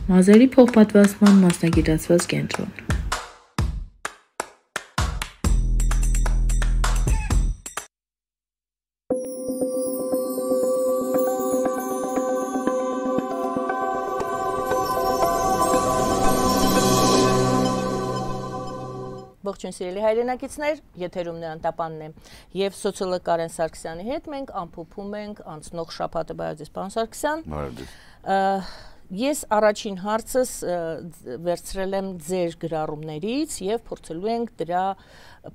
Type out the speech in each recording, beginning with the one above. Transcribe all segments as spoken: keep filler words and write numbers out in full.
Մազերի փոխպատվաստման մասնագիտացված կենտրոն։ Ողջույն սիրելի հայրենակիցներ, եթերում Նրան Տապանն է եւ սոցիոլոգ Կարեն Սարգսյանի հետ մենք ամփոփում ենք անցնող շաբաթը Բայազես պարոն Սարգսյան։ Ես առաջին հարցս վերցրել եմ ձեր գրառումներից եւ փորձելու ենք դրա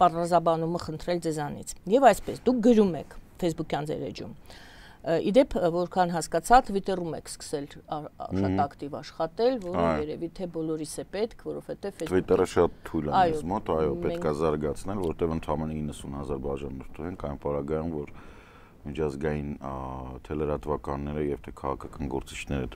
բարձրաբանումը խնդրել ձեզանից։ Եվ այսպես, դուք գրում եք Facebook-յան ձեր էջում։ Իդեպ, որքան հասկացա, Twitter-ում եք սկսել շատ ակտիվ աշխատել, որը երևի թե բոլորիս է պետք, որովհետև Twitter-ը շատ թույլ է մեզ մոտ, այո, պետք է զարգացնել, որտեղ ընդամենը իննսուն հազար բաժանորդու ենք, այն պարագայում, որ միջազգային թելերատվականները եւ թե քաղաքական գործիչները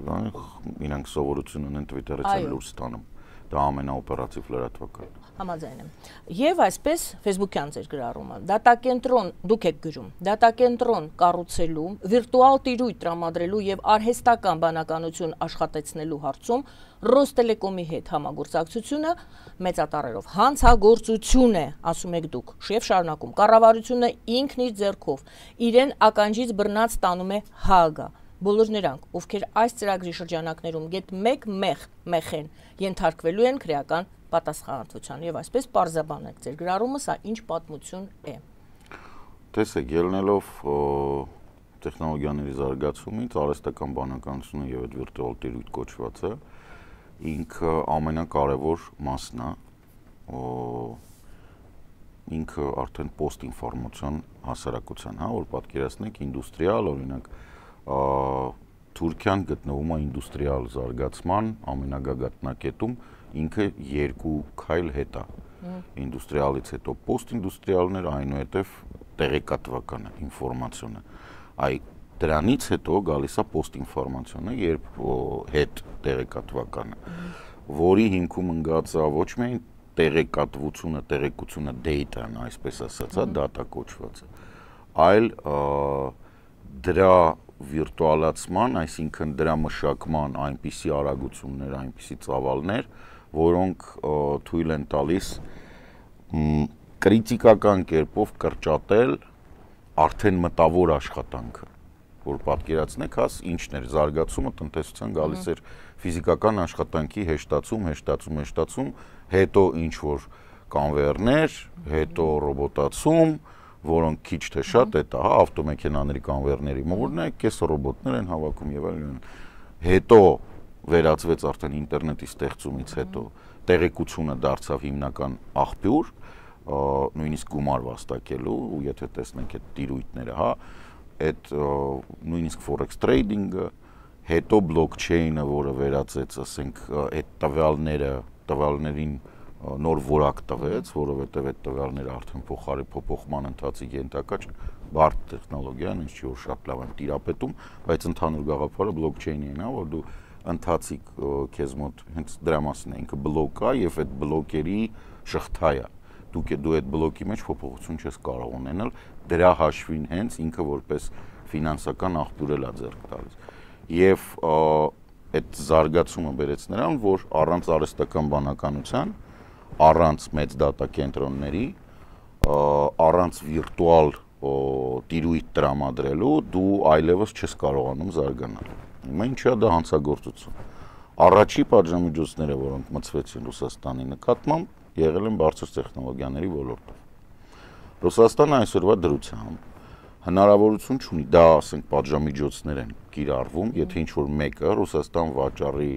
իրանք սովորություն ունեն Twitter-ից էլ լույս ստանում։ Դա ամենաօպերատիվ լրատվականն է։ Համաձայն եմ։ Եվ այսպես Facebook-յան ձեր գրառումը, դատակենտրոն, դուք եք գրում, դատակենտրոն կառուցելու, վիրտուալ տիրույթ տրամադրելու եւ արհեստական բանականություն աշխատեցնելու հարցում Ռոստելեկոմի հետ համագործակցությունը մեծատառերով հանցագործություն է, ասում եք դուք, շեվ շարունակում, կառավարությունը ինքն իր ձեռքով իրեն ականջից բռնած տանում է Հաագա։ Բոլոր նրանք, ովքեր այս ծրագրի շրջանակներում գետ մեկ մեղ մեխեն ենթարկվելու են քրեական պատասխանատվության եւ այսպես պարզաբանեք ձեր գրառումը, սա ինչ պատմություն է։ Տեսեք, ելնելով տեխնոլոգիաների զարգացումից արհեստական բանականությունը եւ այդ վիրտուալ տիրույթ կոչվածը ինքը ամենակարևոր մասն է, ինքը արդեն post-ինֆորմացիոն հասարակության, հա, որ պատկերացնեք ինդուստրիալ, օրինակ Թուրքիան գտնվում է ինդուստրիալ զարգացման ամենագագաթնակետում, ինքը երկու քայլ հետ է։ Ինդուստրիալից հետո post-ինդուստրիալներ, այնուհետև տեղեկատվականը, ինֆորմացիոնը։ Այ դրանից հետո գալիս է post-ինֆորմացիոնը, երբ հետ տեղեկատվականը, որի հիմքում ընկած է ոչ միայն տեղեկատվությունը, տեղեկությունը data-ն, այսպես ասած, data կոչվածը, այլ դրա վիրտուալացման, այսինքն դրա մշակման այնպիսի արագություններ, այնպիսի ծավալներ, որոնք թույլ են տալիս կրիտիկական կերպով կրճատել արդեն մտավոր աշխատանքը, որ պատկերացնեք, հաս ինչն էր զարգացումը տնտեսության գալիս էր ֆիզիկական աշխատանքի հեշտացում, հեշտացում, հեշտացում, հետո ինչ որ կանվերներ, հետո ռոբոտացում, որոնք քիչ թե շատ է, հա, ավտոմեքենաների կանվերների մորն է, կես ռոբոտներ են հավաքում եւ այլն։ Հետո վերածվեց արդեն ինտերնետի ստեղծումից հետո տեղեկությունը դարձավ հիմնական աղբյուր, նույնիսկ գումար վաստակելու, ու եթե տեսնենք այդ տիրույթները, հա, այդ նույնիսկ forex trading-ը, հետո blockchain-ը, որը վերածեց, ասենք, այդ տվյալները, տվյալներին նոր որակ տվեց, որովհետև այդ տվյալները արդեն փոխարի փոփոխման ընթացի ենթակա չեն, բարդ տեխնոլոգիան, ինչ որ շատ լավ են տիրապետում, բայց ընդհանուր գաղափարը blockchain-ին է, որ դու ընթացիկ քեզ մոտ հենց դրա մասին է, ինքը բլոկ է եւ այդ բլոկերի շղթա է։ Դուք դու այդ բլոկի մեջ փոփոխություն չես կարող ունենալ, դրա հաշվին հենց ինքը որպես ֆինանսական աղբյուր է ձեռք տալիս։ Եվ այդ զարգացումը բերեց նրան, որ առանց արհեստական բանականության, առանց մեծ դատա կենտրոնների, առանց վիրտուալ տիրույթ տրամադրելու դու այլևս չես կարողանում զարգանալ։ Հիմա ինչա դա հանցագործություն։ Առաջի պատժամիջոցները, որոնք մցվեցին Ռուսաստանի նկատմամբ, եղել են բարձր տեխնոլոգիաների ոլորտով։ Ռուսաստանը այսօրվա դրությամբ հնարավորություն չունի, դա ասենք պատժամիջոցներ են կիրառվում, եթե ինչ որ մեկը Ռուսաստան վաճառի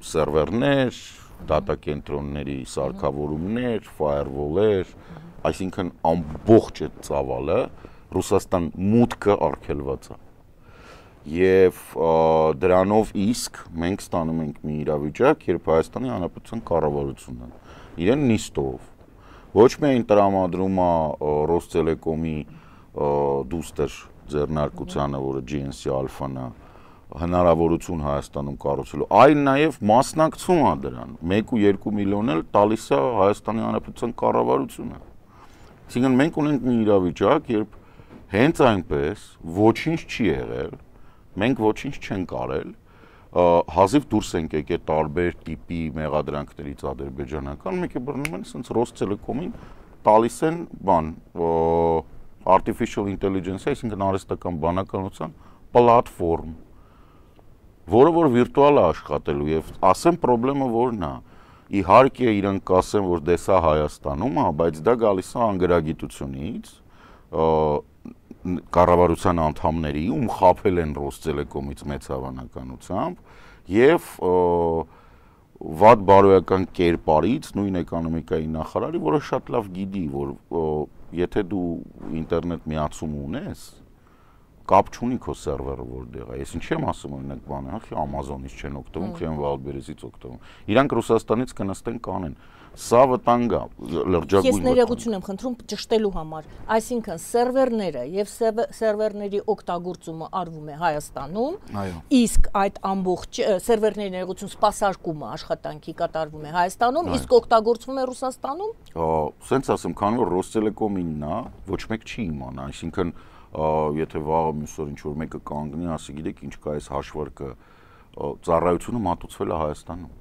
սերվերներ, դատա կենտրոնների սարքավորումներ, firewall-եր, այսինքն ամբողջ այդ ծավալը Ռուսաստան մուտքը արգելված է։ Եվ դրանով իսկ մենք ստանում ենք մի իրավիճակ, երբ Հայաստանի Հանրապետության կառավարությունը իրեն նիստով ոչ միայն տրամադրում է Ռոստելեկոմի դուստր ձեռնարկությանը, որը G N C Alpha-ն է, հնարավորություն Հայաստանում կառուցելու, այլ նաև մասնակցում է դրան, մեկ ու երկու միլիոն էլ տալիս է Հայաստանի Հանրապետության կառավարությունը։ Այսինքն մենք ունենք մի իրավիճակ, երբ հենց այնպես ոչինչ չի եղել, մենք ոչինչ չենք արել, հազիվ դուրս ենք եկել տարբեր տիպի մեղադրանքներից ադրբեջանական, մեկ է բռնում են ասենց Ռոստելեկոմին տալիս են բան artificial intelligence, այսինքն արհեստական բանականության պլատֆորմ, որը որ վիրտուալ է աշխատելու եւ ասեմ խնդրեմը որն է։ Իհարկե իրանք կասեն, որ դե սա Հայաստանում է, բայց դա գալիս է անգրագիտությունից, կառավարության անդամների, ում խաբել են Ռոստելեկոմից մեծ հավանականությամբ եւ վատ բարոյական կերպարից նույն էկոնոմիկայի նախարարի, որը շատ լավ գիտի, որ եթե դու ինտերնետ միացում ունես, կապ չունի քո սերվերը որտեղ է։ Ես ինչ եմ ասում, օրինակ բանը, ախի Amazon-ից չեն օգտվում, Խեն Վալբերեսից օգտվում։ Իրանք Ռուսաստանից կնստեն կանեն։ Սա վտանգ է, լրջագույն։ Ես ներողություն եմ խնդրում ճշտելու համար։ Այսինքն սերվերները եւ սերվերների օգտագործումը արվում է Հայաստանում, իսկ այդ ամբողջ սերվերների ներողություն սպասարկումը աշխատանքի կատարվում է Հայաստանում, իսկ օգտագործվում է Ռուսաստանում։ Սենց ասեմ, քանի որ Ռոստելեկոմինն է, ոչ մեկ չի իմանա, այսինքն եթե վաղը մյուսօր ինչ-որ մեկը կանգնի, ասի գիտեք ինչ կա այս հաշվարկը, ծառայությունը մատուցվել է Հայաստանում։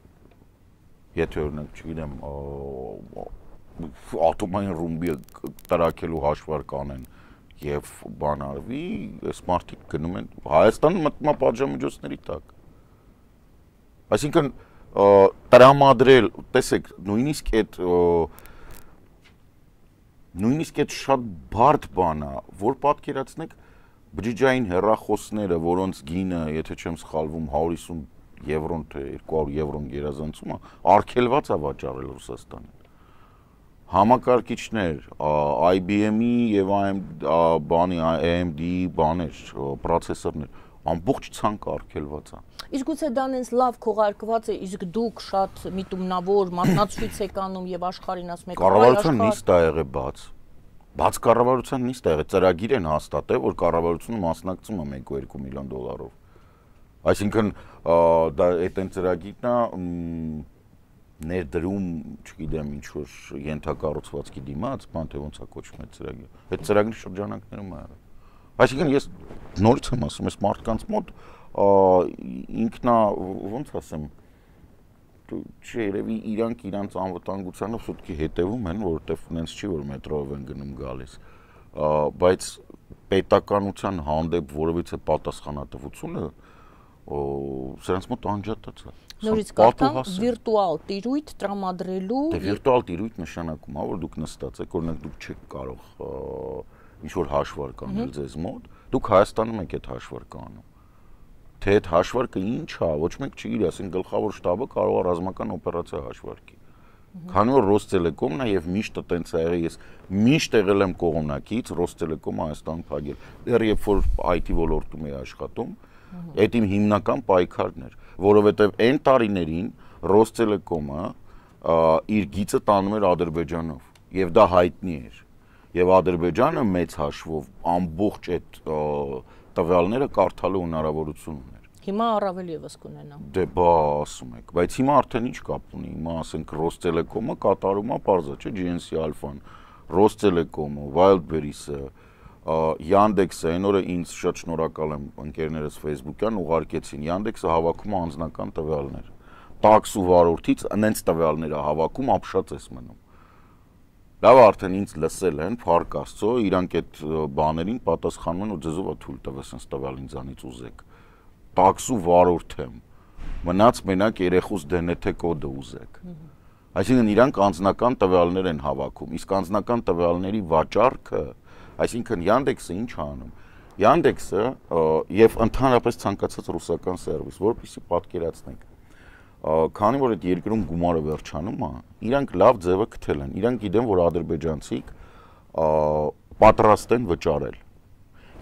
Եթե օրինակ, չգիտեմ, ատոմային ռումբի տրաքելու հաշվարկ անեն եւ բան արվի, այս մարդիկ գնում են Հայաստանը մտնում է պատժամիջոցների տակ։ Այսինքն տրամադրել, տեսեք, նույնիսկ այդ նույնիսկ այդ շատ բարդ բան է, որ պատկերացնեք բջջային հեռախոսները, որոնց գինը, եթե չեմ սխալվում, հարյուր հիսուն եվրոն թե երկու հարյուր եվրոն գերազանցումը արգելված է վաճառել Ռուսաստանին։ Համակարգիչներ, I B M-ի եւ բանի A M D-ի բաներ, պրոցեսորներ, ամբողջ ցանկ արգելված է։ Իսկ գուցե դա նենց լավ քողարկված է, իսկ դուք շատ միտումնավոր մասնակցույց եք անում եւ աշխարհին ասում եք, կառավարության նիստ է եղել բաց։ Բաց կառավարության նիստ է եղել, ծրագիր են հաստատել, որ կառավարությունը մասնակցում է մեկ ու երկու միլիոն դոլարով։ Այսինքն դա այդ այն ծրագիրն է ներդրում, չգիտեմ, ինչ որ ենթակառուցվածքի դիմաց, բան թե ոնց է կոչվում այդ ծրագիրը։ Այդ ծրագրի շրջանակներում է եղել։ Այսինքն ես նորից եմ ասում, այս մարդկանց մոտ ինքնա ոնց ասեմ, չերևի իրանք իրանց անվտանգությանով սուտքի հետևում են, որովհետև նենց չի, որ մետրոյով են գնում գալիս, բայց պետականության հանդեպ որևիցե պատասխանատվությունը սրանց մոտ անջատած է։ Նորից կարդամ վիրտուալ տիրույթ տրամադրելու։ Դե վիրտուալ տիրույթ նշանակում է, որ դուք նստած եք, օրինակ դուք չեք կարող ինչ-որ հաշվարկ անել ձեզ մոտ, դուք Հայաստանում եք այդ հաշվարկը անում։ Թե այդ հաշվարկը ինչ է, ոչ մեկ չգիտի, ասենք գլխավոր շտաբը կարող է ռազմական օպերացիա հաշվարկի։ Քանի որ Ռոստելեկոմն է եւ միշտ տենց է եղել, ես միշտ եղել եմ կողմնակից Ռոստելեկոմը Հայաստան փակել։ Դեռ երբ որ I T ոլորտում էի աշխատում, այդ իմ հիմնական պայքարն էր, որովհետեւ այն տարիներին Ռոստելեկոմը իր գիծը տանում էր Ադրբեջանով եւ դա հայտնի էր։ Եվ Ադրբեջանը մեծ հաշվով ամբողջ այդ տվյալները կարդալու հնարավորություն ուներ։ Հիմա առավել եւս կունենա։ Դե բա ասում եք, բայց հիմա արդեն ինչ կապ ունի, հիմա ասենք Ռոստելեկոմը կատարում է parza, չէ, G N C Alpha-ն, Ռոստելեկոմը, Wildberries-ը, Yandex-ը, այն օրը ինձ շատ շնորհակալ եմ, ընկերներս Facebook-յան ուղարկեցին, Yandex-ը հավաքում է անձնական տվյալներ։ Տաքս ու վարորդից այնց տվյալները հավաքում ապշած ես մնում։ Լավ արդեն ինձ լսել են, փառք Աստծո, իրանք այդ բաներին պատասխանում են ու ձեզով է թույլ տվել sense տվյալ ինձանից ուզեք։ Տաքսու վարորդ եմ։ Մնաց մենակ երեխուս դե են թե կոդը ուզեք։ Այսինքն իրանք անձնական տվյալներ են հավաքում, իսկ անձնական տվյալների վաճառքը, այսինքն Yandex-ը ինչ է անում։ Yandex-ը եւ ընդհանրապես ցանկացած ռուսական սերվիս, որպեսզի պատկերացնենք, քանի որ այդ երկրում գումարը վերջանում է, իրանք լավ ձևը գտել են։ Իրանք գիտեն, որ ադրբեջանցիք պատրաստ են վճարել։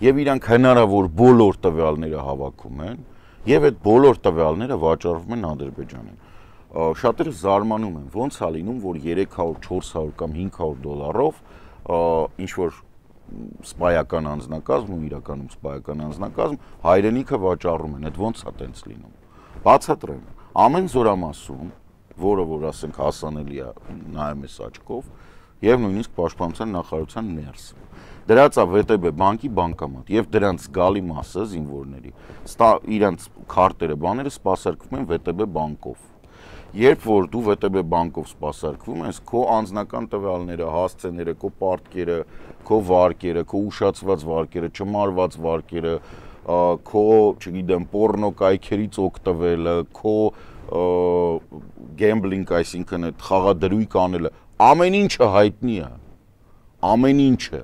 Եվ իրանք հնարավոր բոլոր տվյալները հավաքում են, եւ այդ բոլոր տվյալները վաճառվում են Ադրբեջանին։ Շատերը զարմանում են, ոնց է լինում, որ երեք հարյուր, չորս հարյուր կամ հինգ հարյուր դոլարով ինչ որ սպայական անձնակազմ ու իրականում սպայական անձնակազմ հայրենիքը վաճառում են, այդ ոնց է տենց լինում։ Բացատրեմ, ամեն զորամասում, որը որ ասենք հասանելի է նայում ես աչքով, եւ նույնիսկ պաշտպանության նախարարության ներսը։ Դրած է վե տե բե բանկի բանկամատ եւ դրանց գալի մասը զինվորների իրանց քարտերը բաները սպասարկվում են վե տե բե բանկով։ Երբ որ դու վե տե բե բանկով սպասարկվում ես, քո անձնական տվյալները, հասցեները, քո պարտքերը, քո վարկերը, քո ուշացված վարկերը, չմարված վարկերը, քո, չգիտեմ, պորնո կայքերից օգտվելը, քո գեմբլինգ, այսինքն այդ խաղադրույք անելը, ամեն ինչը հայտնի է։ Ամեն ինչը։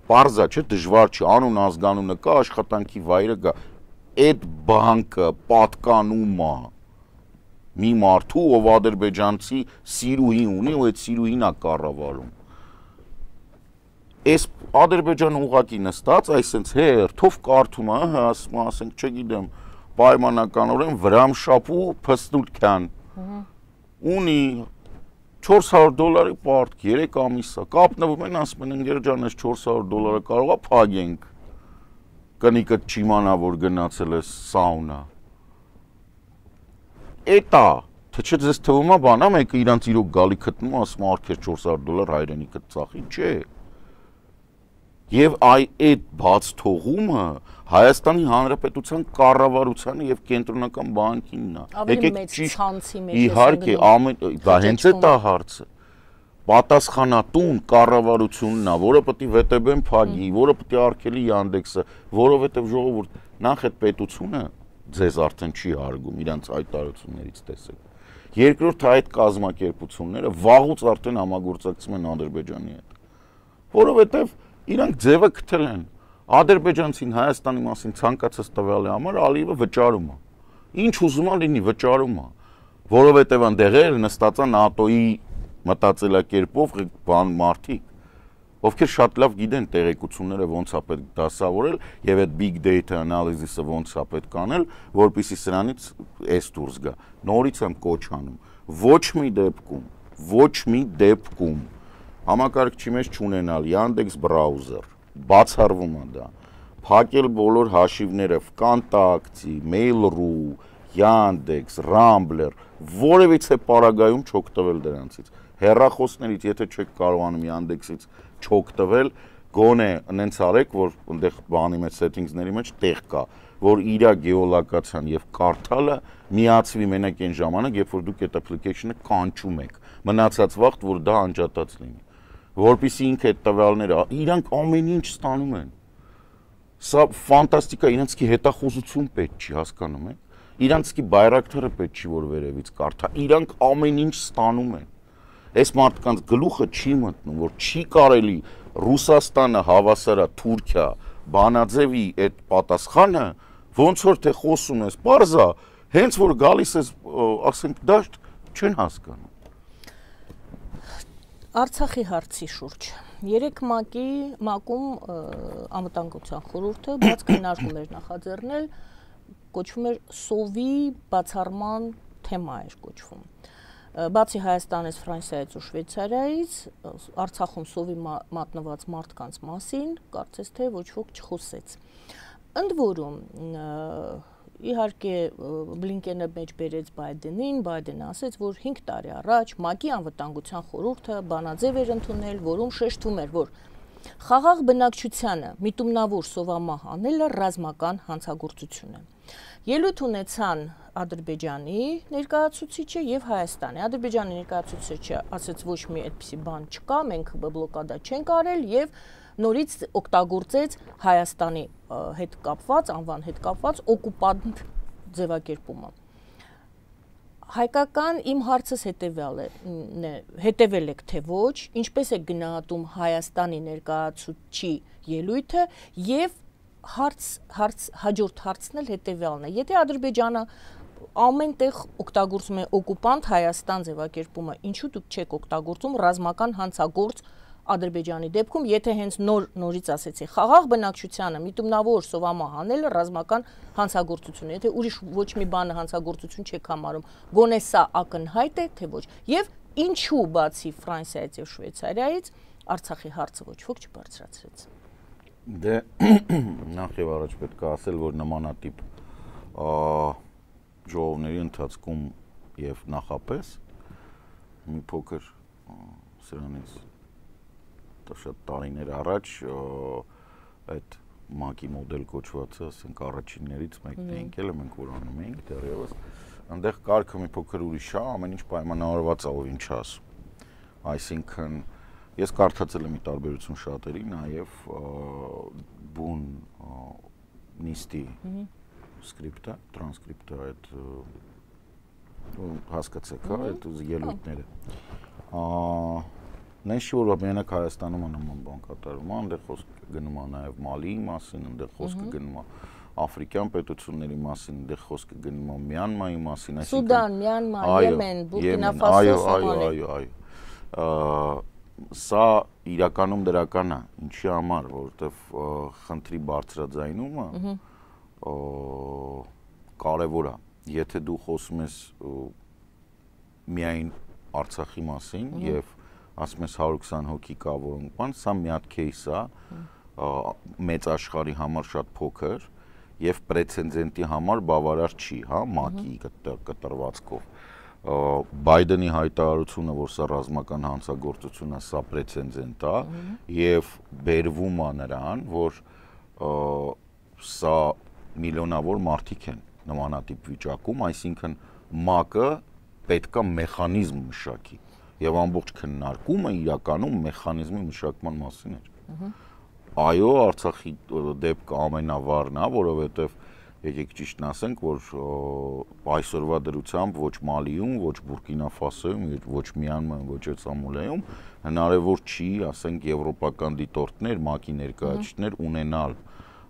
Պարզա չէ, դժվար չի, անուն ազգանունը կա, աշխատանքի վայրը կա։ Այդ բանկը պատկանում է մի մարդու, ով ադրբեջանցի սիրուհի ունի, ու այդ սիրուհին է կառավարում։ Այս Ադրբեջանը ուղղակի նստած, այսինքն հերթով կարդում է, հա, ասենք, չգիտեմ, պայմանականորեն Վրամշապու փստուլքյան։ Ունի չորս հարյուր դոլարի պարտք, երեք ամիս է, կապնվում են, ասում են, ընկեր ջան, այս չորս հարյուր դոլարը կարող է փագենք։ Կնիկը չիմանա, որ գնացել է սաունա։ Էտա, թե չէ ձեզ թվում է բանա, մեկը իրանց իրոք գալի գտնում, ասում արկեր չորս հարյուր դոլար հայրենիքը ծախի, չէ։ Եվ այ այդ բաց թողումը Հայաստանի Հանրապետության կառավարությանը եւ կենտրոնական բանկինն է։ Ավելի մեծ ցանցի մեջ է։ Իհարկե, դա հենց է դա հարցը։ Պատասխանատուն կառավարությունն է, որը պետք է վե տե բեն փագի, որը պետք է արգելի Yandex-ը, որովհետեւ ժողովուրդ նախ այդ պետությունը ձեզ արդեն չի հարգում, իրանց հայտարարություններից տեսեք։ Երկրորդ այդ կազմակերպությունները վաղուց արդեն համագործակցում են Ադրբեջանի հետ, որովհետեւ իրանք ձևը գտել են։ Ադրբեջանցին Հայաստանի մասին ցանկացած տվյալի համար Ալիևը վճարում է։ Ինչ ուզում է լինի, վճարում է, որովհետեւ այնտեղ էլ նստած է ՆԱՏՕ-ի մտածելակերպով բան մարդիկ, ովքեր շատ լավ գիտեն տեղեկությունները ոնց է պետք դասավորել եւ այդ big data analysis-ը ոնց է պետք անել, որպեսզի սրանից էս դուրս գա։ Նորից եմ կոչ անում, ոչ մի դեպքում, ոչ մի դեպքում համակարգչի մեջ չունենալ Yandex browser, բացառվում է դա, փակել բոլոր հաշիվները Vkontakte, Mail.ru, Yandex, Rambler, որևիցե պարագայում չօգտվել դրանցից։ Հեռախոսներից, եթե չեք կարողանում Yandex-ից չօգտվել, գոնե նենց արեք, որ այնտեղ բանի մեջ settings-ների մեջ տեղ կա, որ իր գեոլոկացիան եւ կարդալը միացվի մենակ այն ժամանակ, երբ որ դուք այդ application-ը կանչում եք։ Մնացած վաղտ, որ դա անջատած լինի։ Որպեսզի ինքը այդ տվյալները, իրանք ամեն ինչ ստանում են։ Սա ֆանտաստիկա, իրանցքի հետախուզություն պետք չի, հասկանում եք։ Իրանցքի բայրակտարը պետք չի, որ վերևից կարդա։ Իրանք ամեն ինչ ստանում են։ Այս մարդկանց գլուխը չի մտնում, որ չի կարելի Ռուսաստանը հավասարա Թուրքիա բանաձևի այդ պատասխանը, ոնց որ թե խոսում ես, պարզա, հենց որ գալիս ես, ասենք, դաշտ չեն հասկանում։ Արցախի հարցի շուրջ։ Երեք ՄԱԿ-ի ՄԱԿ-ում անվտանգության խորհուրդը բաց քննարկում էր նախաձեռնել, կոչվում էր սովի բացառման թեմա էր կոչվում։ Բացի Հայաստանից, Ֆրանսիայից ու Շվեյցարիայից, Արցախում սովի մատնված մարդկանց մասին, կարծես թե ոչ ոք չխոսեց։ Ընդ որում, իհարկե Բլինկենը մեջ բերեց Բայդենին, Բայդենը ասեց, որ հինգ տարի առաջ ՄԱԿ-ի անվտանգության խորհուրդը բանաձև էր ընդունել, որում շեշտվում էր, որ խաղաղ բնակչությանը միտումնավոր սովամահ անելը ռազմական հանցագործություն է։ Ելույթ ունեցան Ադրբեջանի ներկայացուցիչը եւ Հայաստանի։ Ադրբեջանի ներկայացուցիչը ասաց ոչ մի այդպիսի բան չկա, մենք բլոկադա չենք արել եւ նորից օգտագործեց Հայաստանի հետ կապված, անվան հետ կապված օկուպանտ ձևակերպումը։ Հայկական իմ հարցս հետեւյալ է, հետևել եք թե ոչ, ինչպես է գնահատում Հայաստանի ներկայացուցչի ելույթը եւ հարց հարց հաջորդ հարցն էլ հետեւյալն է։ Եթե Ադրբեջանը ամենտեղ օգտագործում է օկուպանտ Հայաստան ձևակերպումը, ինչու դուք չեք օգտագործում ռազմական հանցագործ Ադրբեջանի դեպքում, եթե հենց նոր նորից ասեցի, խաղաղ բնակչությանը միտումնավոր սովամահ անելը ռազմական հանցագործություն է, եթե ուրիշ ոչ մի բանը հանցագործություն չեք համարում, գոնե սա ակնհայտ է, թե ոչ։ Եվ ինչու բացի Ֆրանսիայից եւ Շվեյցարիայից Արցախի հարցը ոչ ոք չբարձրացրեց։ Դե նախ եւ առաջ պետք է ասել, որ նմանատիպ ժողովների ընթացքում եւ նախապես մի փոքր սրանից շատ տարիներ առաջ այդ մակի մոդել կոչվածը, ասենք առաջիններից մեկն է եկել, մենք որ անում էինք դեռևս, այնտեղ կարգը մի փոքր ուրիշ է, ամեն ինչ պայմանավորված է, ով ինչ ասում։ Այսինքն ես կարդացել եմ մի տարբերություն շատերի, նաև բուն նիստի սկրիպտը, տրանսկրիպտը, այդ հասկացեք, հա, այդ ելույթները։ Նենց չի, որ միանակ Հայաստանում նման բան կատարվում է, այնտեղ խոսք գնում է նաև Մալիի մասին, այնտեղ խոսքը գնում է Աֆրիկյան պետությունների մասին, այնտեղ խոսքը գնում է Մյանմայի մասին, այսինքն Սուդան, Մյանմա, Եմեն, Բուրկինա Ֆասո, Սոմալիա։ Այո, այո, այո։ Սա իրականում դրական է, ինչի համար, որովհետև խնդրի բարձրաձայնումը կարևոր է։ Եթե դու խոսում ես միայն Արցախի մասին եւ ասում ես հարյուր քսան հոգի կա, որոնք բան, սա մի հատ кейս է, մեծ աշխարհի համար շատ փոքր եւ պրեցեդենտի համար բավարար չի, հա, ՄԱԿ-ի կտրվածքով։ Բայդենի հայտարարությունը, որ սա ռազմական հանցագործություն է, սա պրեցեդենտ է եւ բերվում է նրան, որ սա միլիոնավոր մարդիկ են նմանատիպ վիճակում, այսինքն ՄԱԿ-ը պետքա մեխանիզմ մշակի եւ ամբողջ քննարկումը իրականում մեխանիզմի մշակման մասին էր։ Այո, Արցախի դեպքը ամենավառն է, որովհետեւ եկեք ճիշտն ասենք, որ այսօրվա դրությամբ ոչ Մալիում, ոչ Բուրկինա Ֆասոյում, ոչ Մյանմարում, ոչ Սոմալիայում հնարավոր չի, ասենք, եվրոպական դիտորդներ, ՄԱԿ-ի ներկայացուցիչներ ունենալ,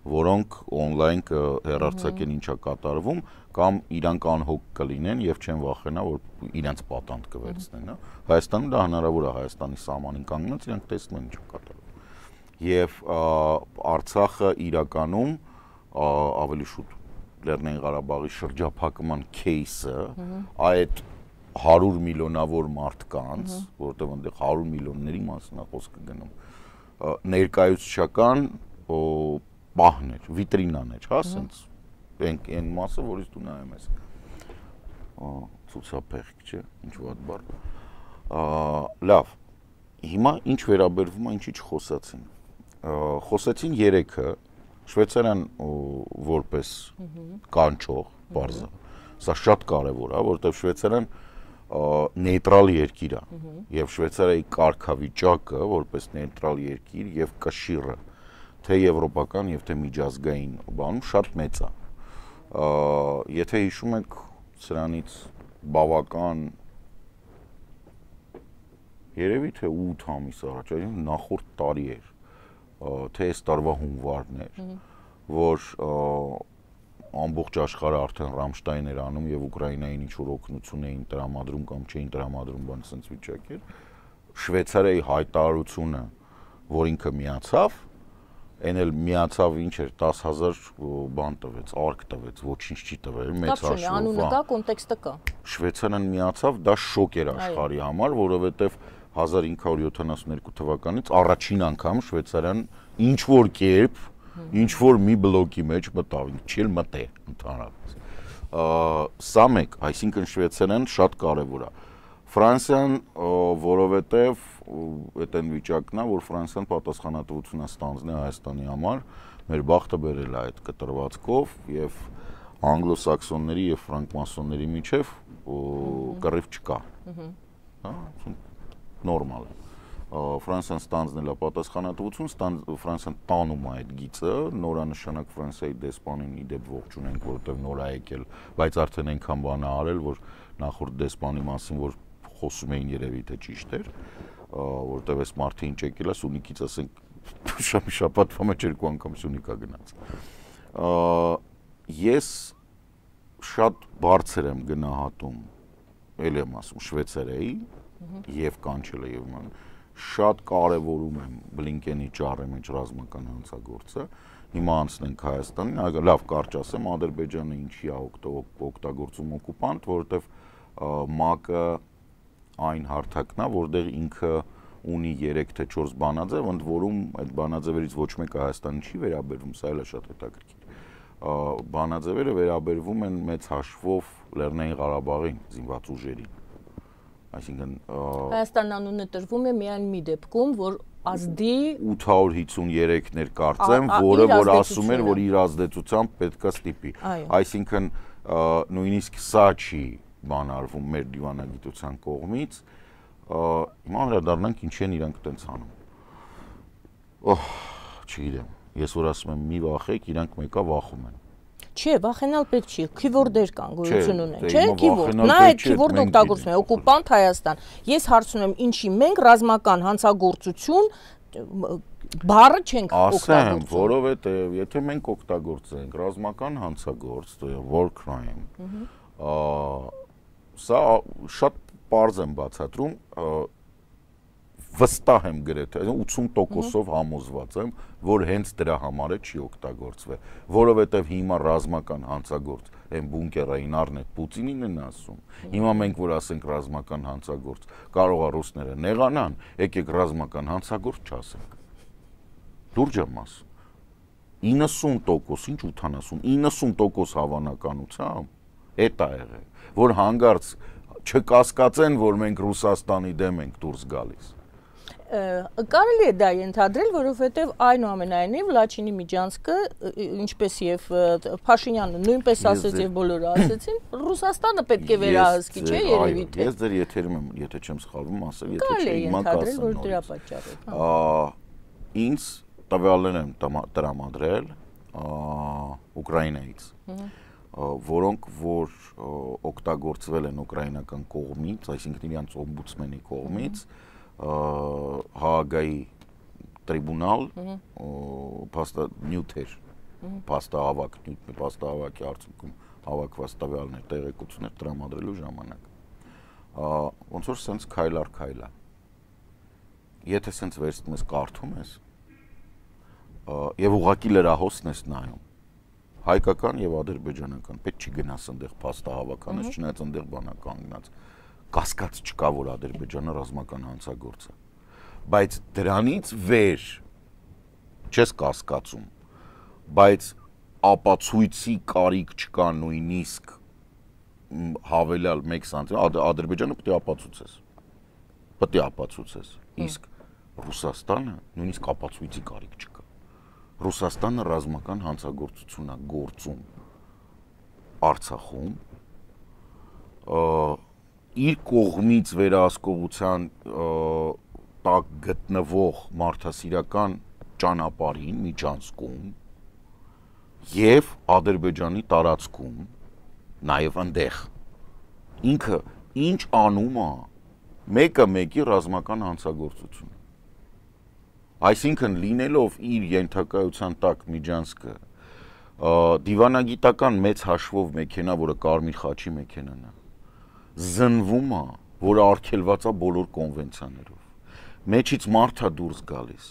որոնք on-line հեռարձակեն ինչա կատարվում, կամ իրանք անհոգ կլինեն եւ չեն վախենա, որ իրենց պատանդ կվերցնեն, հա։ Հայաստանում դա հնարավոր է, Հայաստանի սահմանին կանգնած իրանք տեսնում են ինչա կատարվում։ Եվ Արցախը իրականում ավելի շուտ Լեռնային Ղարաբաղի շրջափակման кейսը այդ հարյուր միլիոնավոր մարդկանց, որտեղ այնտեղ հարյուր միլիոնների մասին է խոսքը գնում, ներկայացուցչական պահն էր, վիտրինան էր, հա, ասենց այն մասը, որից դու նայում ես, ցուցափեղիկ, չէ, ինչ վատ բառ։ Լավ, հիմա ինչ վերաբերվում է, ինչի չխոսացին։ Խոսեցին երեքը, Շվեյցարիան որպես կանչող բարձր, սա շատ կարևոր է, որովհետև Շվեյցարիան նեյտրալ երկիր է, եւ Շվեյցարիայի կարգավիճակը որպես նեյտրալ երկիր եւ կշիռը թե եվրոպական եւ թե միջազգային բանում շատ մեծ է։ Եթե հիշում եք սրանից բավական երևի թե ութ ամիս առաջ, նախորդ տարի էր, թե այս տարվա հունվարն էր, որ ամբողջ աշխարհը արդեն Ռամշտայն էր անում եւ Ուկրաինային ինչ-որ օգնություն էին տրամադրում կամ չէին տրամադրում, բան ասենց վիճակ էր։ Շվեյցարիայի հայտարարությունը, որ ինքը միացավ, այն էլ միացավ ինչ էր դես հազար բան տվեց, արկ տվեց, ոչինչ չի տվել, մեծ հաշվով։ Անունը կա, կոնտեքստը կա։ Շվեյցարիան միացավ, դա շոկ էր աշխարհի համար, որովհետեւ հազար ինը հարյուր յոթանասունհինգ թվականից առաջին անգամ Շվեյցարիան ինչ որ կերպ, ինչ որ մի բլոկի մեջ մտավ, չի էլ մտե ընդհանրապես։ Սա մեկ, այսինքն Շվեյցարիան շատ կարևոր է։ Ֆրանսիան, որովհետև այդ այն վիճակն է, որ Ֆրանսիան պատասխանատվություն է ստանձնել Հայաստանի համար, մեր բախտը բերել է այդ կտրվածքով եւ անգլոսաքսոնների եւ ֆրանկմասոնների միջև կռիվ չկա։ Հա, նորմալ է։ Ֆրանսիան ստանձնել է պատասխանատվություն, Ֆրանսիան տանում է այդ գիծը, նորանշանակ Ֆրանսիայի դեսպանին իդեպ ողջունենք, որովհետև նոր է եկել, բայց արդեն այնքան բան է արել, որ նախորդ դեսպանի մասին, որ խոսում էին երևի թե ճիշտ էր, որովհետև այս մարդը ինչ եկել է Սյունիքից, ասենք շաբաթվա մեջ երկու անգամ Սյունիքա գնաց։ Ես շատ բարձր եմ գնահատում, ել եմ ասում, Շվեյցարիայի եւ կանչելը եւ ման շատ կարևորում եմ Բլինկենի ճառի մեջ ռազմական հանցագործը։ Հիմա անցնենք Հայաստանին, լավ կարճ ասեմ, Ադրբեջանը ինչի է օգտագործում օկուպանտ, որովհետեւ ՄԱԿ-ը այն հարթակն է, որտեղ ինքը ունի երեք թե չորս բանաձև, ընդ որում այդ բանաձևերից ոչ մեկը Հայաստանին չի վերաբերվում, սա էլ է շատ հետաքրքիր։ Բանաձևերը վերաբերվում են մեծ հաշվով Լեռնային Ղարաբաղին, զինված ուժերին։ այսինքն Հայաստան անունը տրվում է միայն մի դեպքում, որ ազդի ութ հարյուր հիսունյոթ-ներ կարծեմ, որը որ ասում էր, որ իր ազդեցությամբ պետք է ստիպի։ Այսինքն նույնիսկ սա չի բանարվում մեր դիվանագիտության կողմից, հիմա վերադառնանք ինչի են իրանք տենց անում։ Օհ, չգիտեմ, ես որ ասում եմ մի վախեք, իրանք մեկա վախում են։ Չէ, վախենալ պետք չի, քիվորդեր կան, գոյություն ունեն, չէ, քիվորդ, նա այդ քիվորդը օգտագործում է, օկուպանտ Հայաստան։ Ես հարցնում եմ, ինչի մենք ռազմական հանցագործություն բառը չենք օգտագործում։ Ասեմ, որովհետև եթե մենք օգտագործենք ռազմական հանցագործ, war crime, սա շատ պարզ եմ բացատրում, վստահ եմ գրեթե ութսուն տոկոսով համոզված եմ, որ հենց դրա համար է չի օգտագործվել, որովհետև հիմա ռազմական հանցագործ այն բունկերային առնետ Պուտինին են ասում։ Հիմա մենք որ ասենք ռազմական հանցագործ, կարող է ռուսները նեղանան, եկեք ռազմական հանցագործ չասենք։ Լուրջ եմ ասում։ իննսուն տոկոս, ինչ ութանասուն, իննսուն տոկոս հավանականությամբ էդ է եղել, որ հանգարց չկասկածեն, որ մենք Ռուսաստանի դեմ ենք դուրս գալիս։ Կարելի է դա ենթադրել, որովհետև այնուամենայնիվ Լաչինի Միջանցկը, ինչպես եւ Փաշինյանը նույնպես ասեց եւ բոլորը ասեցին, Ռուսաստանը պետք է վերահսկի, չէ՞ երևի թե։ Ես ձեր եթերում եմ, եթե չեմ սխալվում, ասել, եթե չէ, չէ, հիմա կասեմ, որ դրա պատճառով։ Ինձ տվյալներ եմ տրամադրել Ուկրաինայից, որոնք որ օգտագործվել են ուկրաինական կողմից, այսինքն իրանց օմբուդսմենի կողմից, Հաագայի տրիբունալ նյութեր, փաստահավաք, փաստահավաքի արդյունքում հավաքված տվյալներ, տեղեկություններ տրամադրելու ժամանակ։ Ոնց որ սենց քայլ առ քայլ է։ Եթե սենց վերցնում ես կարդում ես, եւ ուղղակի լրահոսն ես նայում, հայկական եւ ադրբեջանական, պետք չի գնաս այնտեղ փաստահավականից, չնայած այնտեղ բանա կանգնած։ Կասկած չկա, որ Ադրբեջանը ռազմական հանցագործ է, բայց դրանից վեր չես կասկածում, բայց ապացույցի կարիք չկա նույնիսկ հավելյալ մեկ սանտիմետր, Ադրբեջանը պետք է ապացուցես, պետք է ապացուցես, իսկ Ռուսաստանը նույնիսկ ապացույցի կարիք չկա, Ռուսաստանը ռազմական հանցագործություն է գործում Արցախում, իր կողմից վերահսկողության տակ գտնվող մարդասիրական ճանապարհին Միջանցքում եւ Ադրբեջանի տարածքում, նաեւ այնտեղ ինքը ինչ անում է, մեկը մեկի ռազմական հանցագործություն։ Այսինքն լինելով իր ենթակայության տակ Միջանցքը դիվանագիտական մեծ հաշվով մեքենա, որը Կարմիր խաչի մեքենան է, զնվում է, որ արգելված է բոլոր կոնվենցիաներով։ Մեջից մարդ է դուրս գալիս։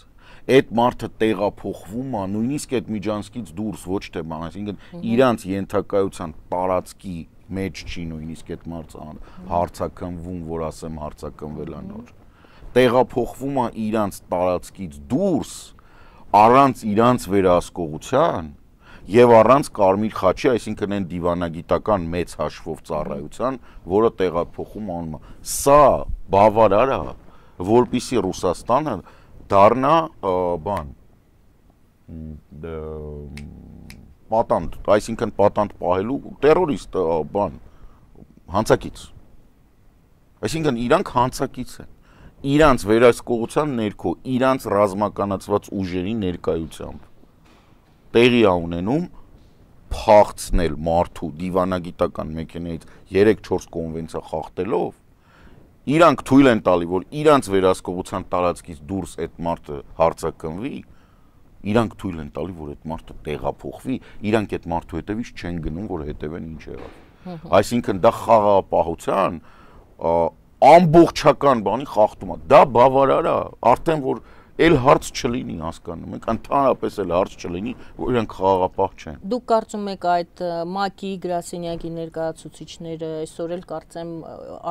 Այդ մարդը տեղափոխվում է, նույնիսկ այդ Միջանցքից դուրս, ոչ թե բան, այսինքն իրանց ենթակայության տարածքի մեջ չի նույնիսկ այդ մարդը հարցակնվում, որ ասեմ հարցակնվել է նոր։ Տեղափոխվում է իրանց տարածքից դուրս, առանց իրանց վերահսկողության եւ առանց Կարմիր խաչի, այսինքն այն դիվանագիտական մեծ հաշվով ծառայության, որը տեղափոխում անում է։ Սա բավարար է, որպեսզի Ռուսաստանը դառնա բան պատանդ, այսինքն պատանդ պահելու տերորիստ բան հանցակից։ Այսինքն իրանք հանցակից են։ Իրանց վերահսկողության ներքո, իրանց ռազմականացված ուժերի ներկայությամբ տեղի է ունենում փախցնել մարդու դիվանագիտական մեքենայից երեք-չորս կոնվենցիա խախտելով, իրանք թույլ են տալի, որ իրանց վերահսկողության տարածքից դուրս այդ մարդը հարցակնվի, իրանք թույլ են տալի, որ այդ մարդը տեղափոխվի, իրանք այդ մարդու հետևից չեն գնում, որ հետևեն ինչ եղավ։ Այսինքն դա խաղաղապահության ամբողջական բանի խախտում է։ Դա բավարար է, արդեն որ էլ հարց չլինի, հասկանում եք, ընդհանրապես էլ հարց չլինի, որ իրենք խաղաղապահ չեն։ Դուք կարծում եք այդ ՄԱԿ-ի գրասենյակի ներկայացուցիչները այսօր էլ կարծեմ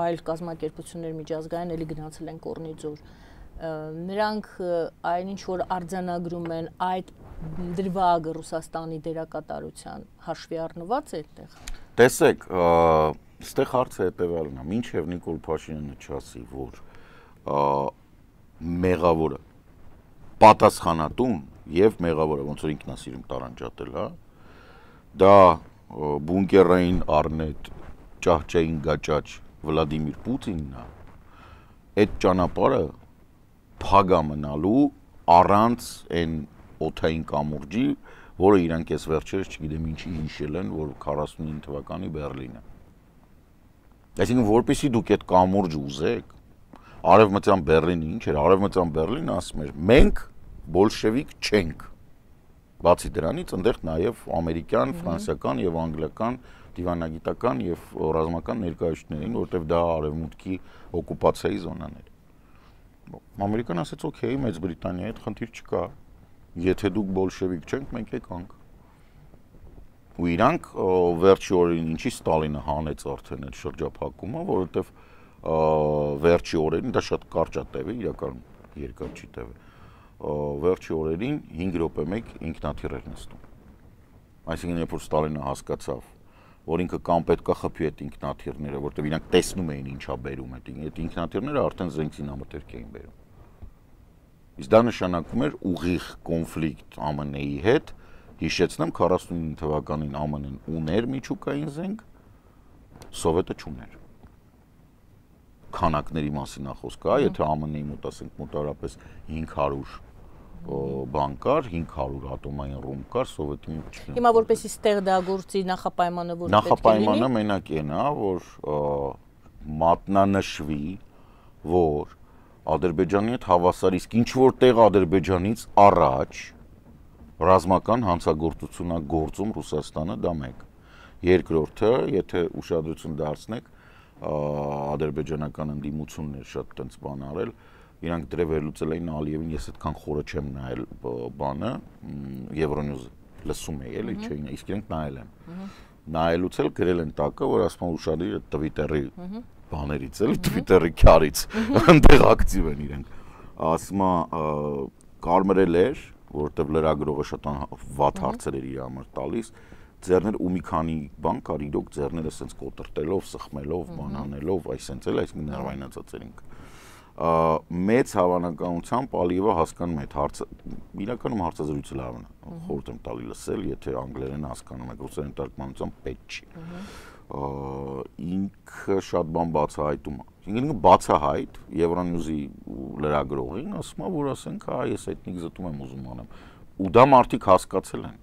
այլ կազմակերպություններ միջազգային էլի գնացել են Կորնիձոր։ Նրանք այնինչ որ արձանագրում են այդ դրվագը Ռուսաստանի դերակատարության հաշվի առնված է այդտեղ։ Տեսեք, այստեղ հարցը հետևյալն է, մինչև Նիկոլ Փաշինյանը չասի, որ մեղավորը պատասխանատուն եւ մեղավորը ոնց որ ինքն է սիրում տարանջատել, հա, դա բունկերային առնետ ճահճային գաճաճ Վլադիմիր Պուտինն է, այդ ճանապարհը փագա մնալու առանց այն օթային կամուրջի, որը իրանք այս վերջերս չգիտեմ ինչի հիշել են, որ քառասունինը թվականի Բերլինը։ Այսինքն որպեսզի դուք այդ կամուրջը ուզեք, Արևմտյան Բերլինը ինչ էր, Արևմտյան Բերլինը ասում էր, մենք բոլշևիկ չենք։ Բացի դրանից, այնտեղ նաև ամերիկյան, ֆրանսիական եւ անգլիական դիվանագիտական եւ ռազմական ներկայացուցիչներ էին, որտեղ դա արևմուտքի օկուպացիայի զոնան էր։ Ամերիկան ասաց, օքեյ, Մեծ Բրիտանիայի հետ խնդիր չկա։ Եթե դուք բոլշևիկ չենք, մենք եկանք։ Ու իրանք վերջի օրերին ինչի Ստալինը հանեց արդեն այդ շրջափակումը, որովհետեւ վերջի օրերին դա շատ կարճ է տևի, իրականում երկար չի տևի։ Վերջի օրերին հինգ րոպե մեկ ինքնաթիռ էր նստում։ Այսինքն երբ որ Ստալինը հասկացավ, որ ինքը կամ պետքա խփի այդ ինքնաթիռները, որտեղ իրանք տեսնում էին ինչա բերում այդ այդ ինքնաթիռները արդեն զենքին ամրտերք էին բերում։ Իսկ դա նշանակում էր ուղիղ կոնֆլիկտ ԱՄՆ-ի հետ, հիշեցնեմ քառասունինը թվականին ԱՄՆ-ն ուներ միջուկային զենք, Սովետը չուներ։ Քանակների մասին է խոսքը, եթե ԱՄՆ-ի մոտ ասենք մոտավորապես հինգ հարյուր բան կար, հինգ հարյուր ատոմային ռումբ կար, Սովետի մոտ չկար։ Հիմա որպեսի ստեղ դա գործի նախապայմանը որ պետք է լինի։ Նախապայմանը մենակ այն է, որ մատնանշվի, որ Ադրբեջանի հետ հավասար, իսկ ինչ որտեղ Ադրբեջանից առաջ ռազմական հանցագործություն է գործում Ռուսաստանը, դա մեկ։ Երկրորդը, եթե ուշադրություն դարձնեք, ադրբեջանական ընդդիմություններ շատ տենց բան արել, իրանք դրե վերլուծել էին Ալիևին, ես այդքան խորը չեմ նայել բանը, Euronews լսում էի, էլի չէին, իսկ իրենք նայել են։ Նայելուց էլ գրել են տակը, որ ասում են ուշադիր Twitter-ի բաներից էլի, Twitter-ի քարից, այնտեղ ակտիվ են իրենք։ Ասում է կարմրել էր, որովհետև լրագրողը շատ վատ հարցեր էր իր համար տալիս, ձեռներ ու մի քանի բան կար իրոք ձեռները սենց կոտրտելով, սխմելով, բանանելով, այսենց էլ, այսինքն ներվայնացած էր ինքը։ Մեծ հավանականությամբ Ալիևը հասկանում է այդ հարցը, իրականում հարցազրույցը լավն է, խորհուրդ եմ տալի լսել, եթե անգլերեն հասկանում եք, ռուսերեն թարգմանությամբ պետք չի։ Ինքը շատ բան բացահայտում է։ Ինքը բացահայտ Euronews-ի լրագրողին ասում է, որ ասենք, հա, ես էթնիկ զտում եմ ուզում անեմ։ Ու դա մարդիկ հասկացել են։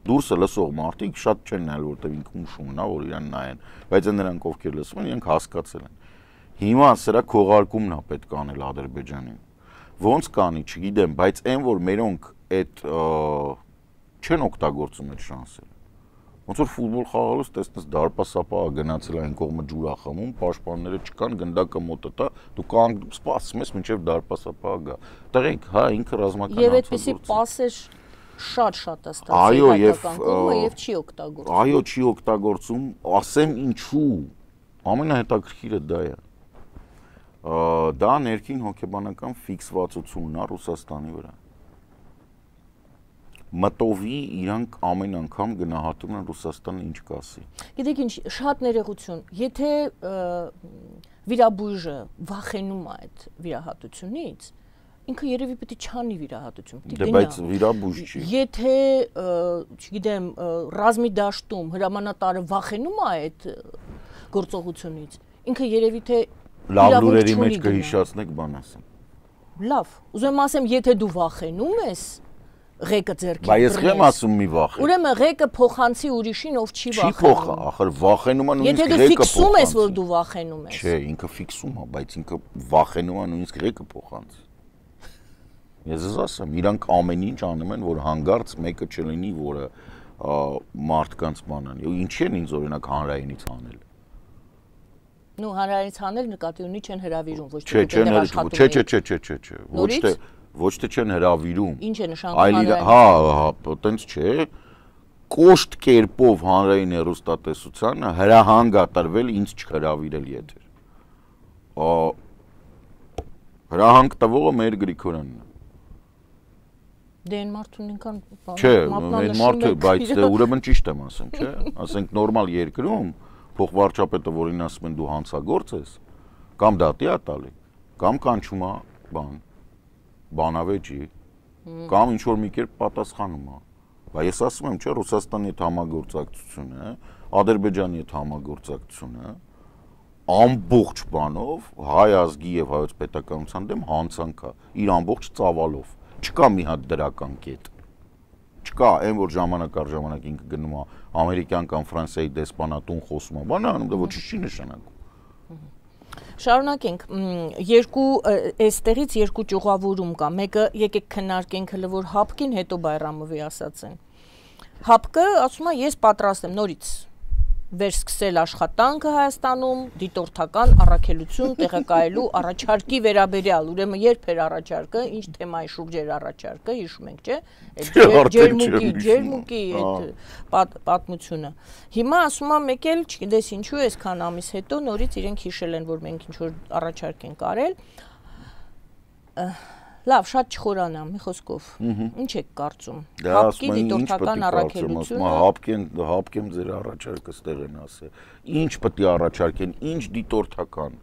Դուրսը լսող մարդիկ շատ չեն նայել, որտեղ ինքը ուշումն է, որ իրան նայեն, բայց նրանք ովքեր լսում են, իրենք հասկացել են։ Հիմա սրա քողարկումն է պետք անել Ադրբեջանին։ Ոնց կանի, չգիտեմ, բայց այն որ մերոնք այդ չեն օգտագործում այդ շանսերը։ Ոնց որ ֆուտբոլ խաղալուց տեսնես դարպասապահը գնացել այն կողմը ջուր է խմում, պաշտպանները չկան, գնդակը մոտը տա, դու կանգ սպասում ես մինչև դարպասապահը գա։ Տղեկ, հա, ինքը ռազմական եւ այդպեսի պասեր շատ-շատ է ստացել հայկական կողմը եւ չի օգտագործում։ Այո, չի օգտագործում, ասեմ ինչու։ Ամենահետաքրքիրը դա է։ Դա ներքին հոգեբանական ֆիքսվածությունն է Ռուսաստանի վրա։ Մտովի իրանք ամեն անգամ գնահատում են Ռուսաստանը ինչ կասի։ Գիտեք ինչ, շատ ներողություն, եթե վիրաբույժը վախենում է այդ վիրահատությունից, ինքը երևի պետք է չանի վիրահատություն, պետք է գնա։ Դե բայց վիրաբույժ չի։ Եթե, չգիտեմ, ռազմի դաշտում հրամանատարը վախենում է այդ գործողությունից, ինքը երևի թե լավ լուրերի մեջ կհիշացնեք բան ասեմ։ Լավ, ուզում եմ ասեմ, եթե դու վախենում ես, ղեկը ձեռքի։ Բայց ես չեմ ասում մի վախ։ Ուրեմն ղեկը փոխանցի ուրիշին, ով չի վախենում։ Չի փոխ, ախր վախենում է նույնիսկ ղեկը փոխանցի։ Եթե դու ֆիքսում ես, որ դու վախենում ես։ Չէ, ինքը ֆիքսում է, բայց ինքը վախենում է նույնիսկ ղեկը փոխանցի։ Ես ես ասեմ, իրանք ամեն ինչ անում են, որ հանգարց մեկը չլինի, որը մարդկանց բանան։ Ինչի են ինձ օրինակ հանրայինից անել։ Նու հանրայինից անել նկատի ունի չեն հրավիրում, ոչ թե դեռ աշխատում։ Չէ, չէ, չէ, չէ, չէ, ոչ թե ոչ թե չեն հրավիրում։ Ինչ է նշանակում հանրային։ Հա, հա, տենց չէ։ Կոշտ կերպով հանրային հեռուստատեսությանը հրահանգ ատարվել ինձ չհրավիրել եթեր։ Հրահանգ տվողը մեր Գրիգորյանն է։ Դե այն մարդուն ինքան Չէ, այն մարդը, բայց դե ուրեմն ճիշտ եմ ասում, չէ։ Ասենք նորմալ երկրում փոխվարչապետը, որին ասում են դու հանցագործ ես, կամ դատի է տալի, կամ կանչում է բան, բանավեճի, կամ ինչ որ մի կերպ պատասխանում է։ Բայց ես ասում եմ, չէ, Ռուսաստանի հետ համագործակցությունը, Ադրբեջանի հետ համագործակցությունը ամբողջ բանով հայ ազգի եւ հայոց պետականության դեմ հանցանք է, իր ամբողջ ծավալով։ Չկա մի հատ դրական կետ։ Չկա, այն որ ժամանակ առ ժամանակ ինքը գնում է ամերիկյան կամ Ֆրանսիայի դեսպանատուն խոսում է, բան անում, դա ոչինչ չի նշանակում։ Շարունակենք, երկու այստեղից երկու ճյուղավորում կա։ Մեկը եկեք քննարկենք հələ որ Հապկին, հետո Բայրամովի ասած են։ Հապկը ասում է ես պատրաստ եմ նորից վերսկսել աշխատանքը Հայաստանում, դիտորդական առաքելություն տեղակայելու առաջարկի վերաբերյալ, ուրեմն երբ էր առաջարկը, ինչ թեմայի շուրջ էր առաջարկը, հիշում ենք, չէ՞, այդ ջերմուկի, ջերմուկի այդ պատմությունը։ Հիմա ասում եմ մեկ էլ, չգիտես ինչու, այսքան ամիս հետո նորից իրենք հիշել են, որ մենք ինչ որ առաջարկ ենք արել։ Լավ, շատ չխորանամ, մի խոսքով։ Ինչ եք կարծում։ Հապկի դիտորդական առաքելությունը։ Հապկեն, հապկեմ ձեր առաջարկը ստեղ են ասել։ Ինչ պետք է առաջարկեն, ինչ դիտորդական,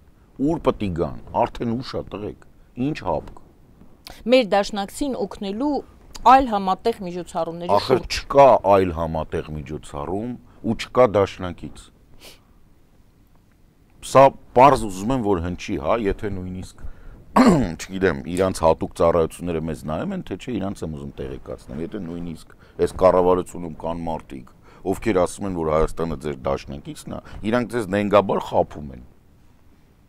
ուր պետք է գան, արդեն ուշ է տղեկ։ Ինչ հապկ։ Մեր դաշնակցին օգնելու այլ համատեղ միջոցառումների շուրջ։ Ախր չկա այլ համատեղ միջոցառում ու չկա դաշնակից։ Սա պարզ ուզում եմ որ հնչի, հա, եթե նույնիսկ չգիտեմ, իրանց հատուկ ծառայությունները մեզ նայում են, թե չէ, իրանց եմ ուզում տեղեկացնեմ, եթե նույնիսկ այս կառավարությունում կան մարդիկ, ովքեր ասում են, որ Հայաստանը ձեր դաշնակիցն է, իրանք ձեզ նենգաբար խաբում են։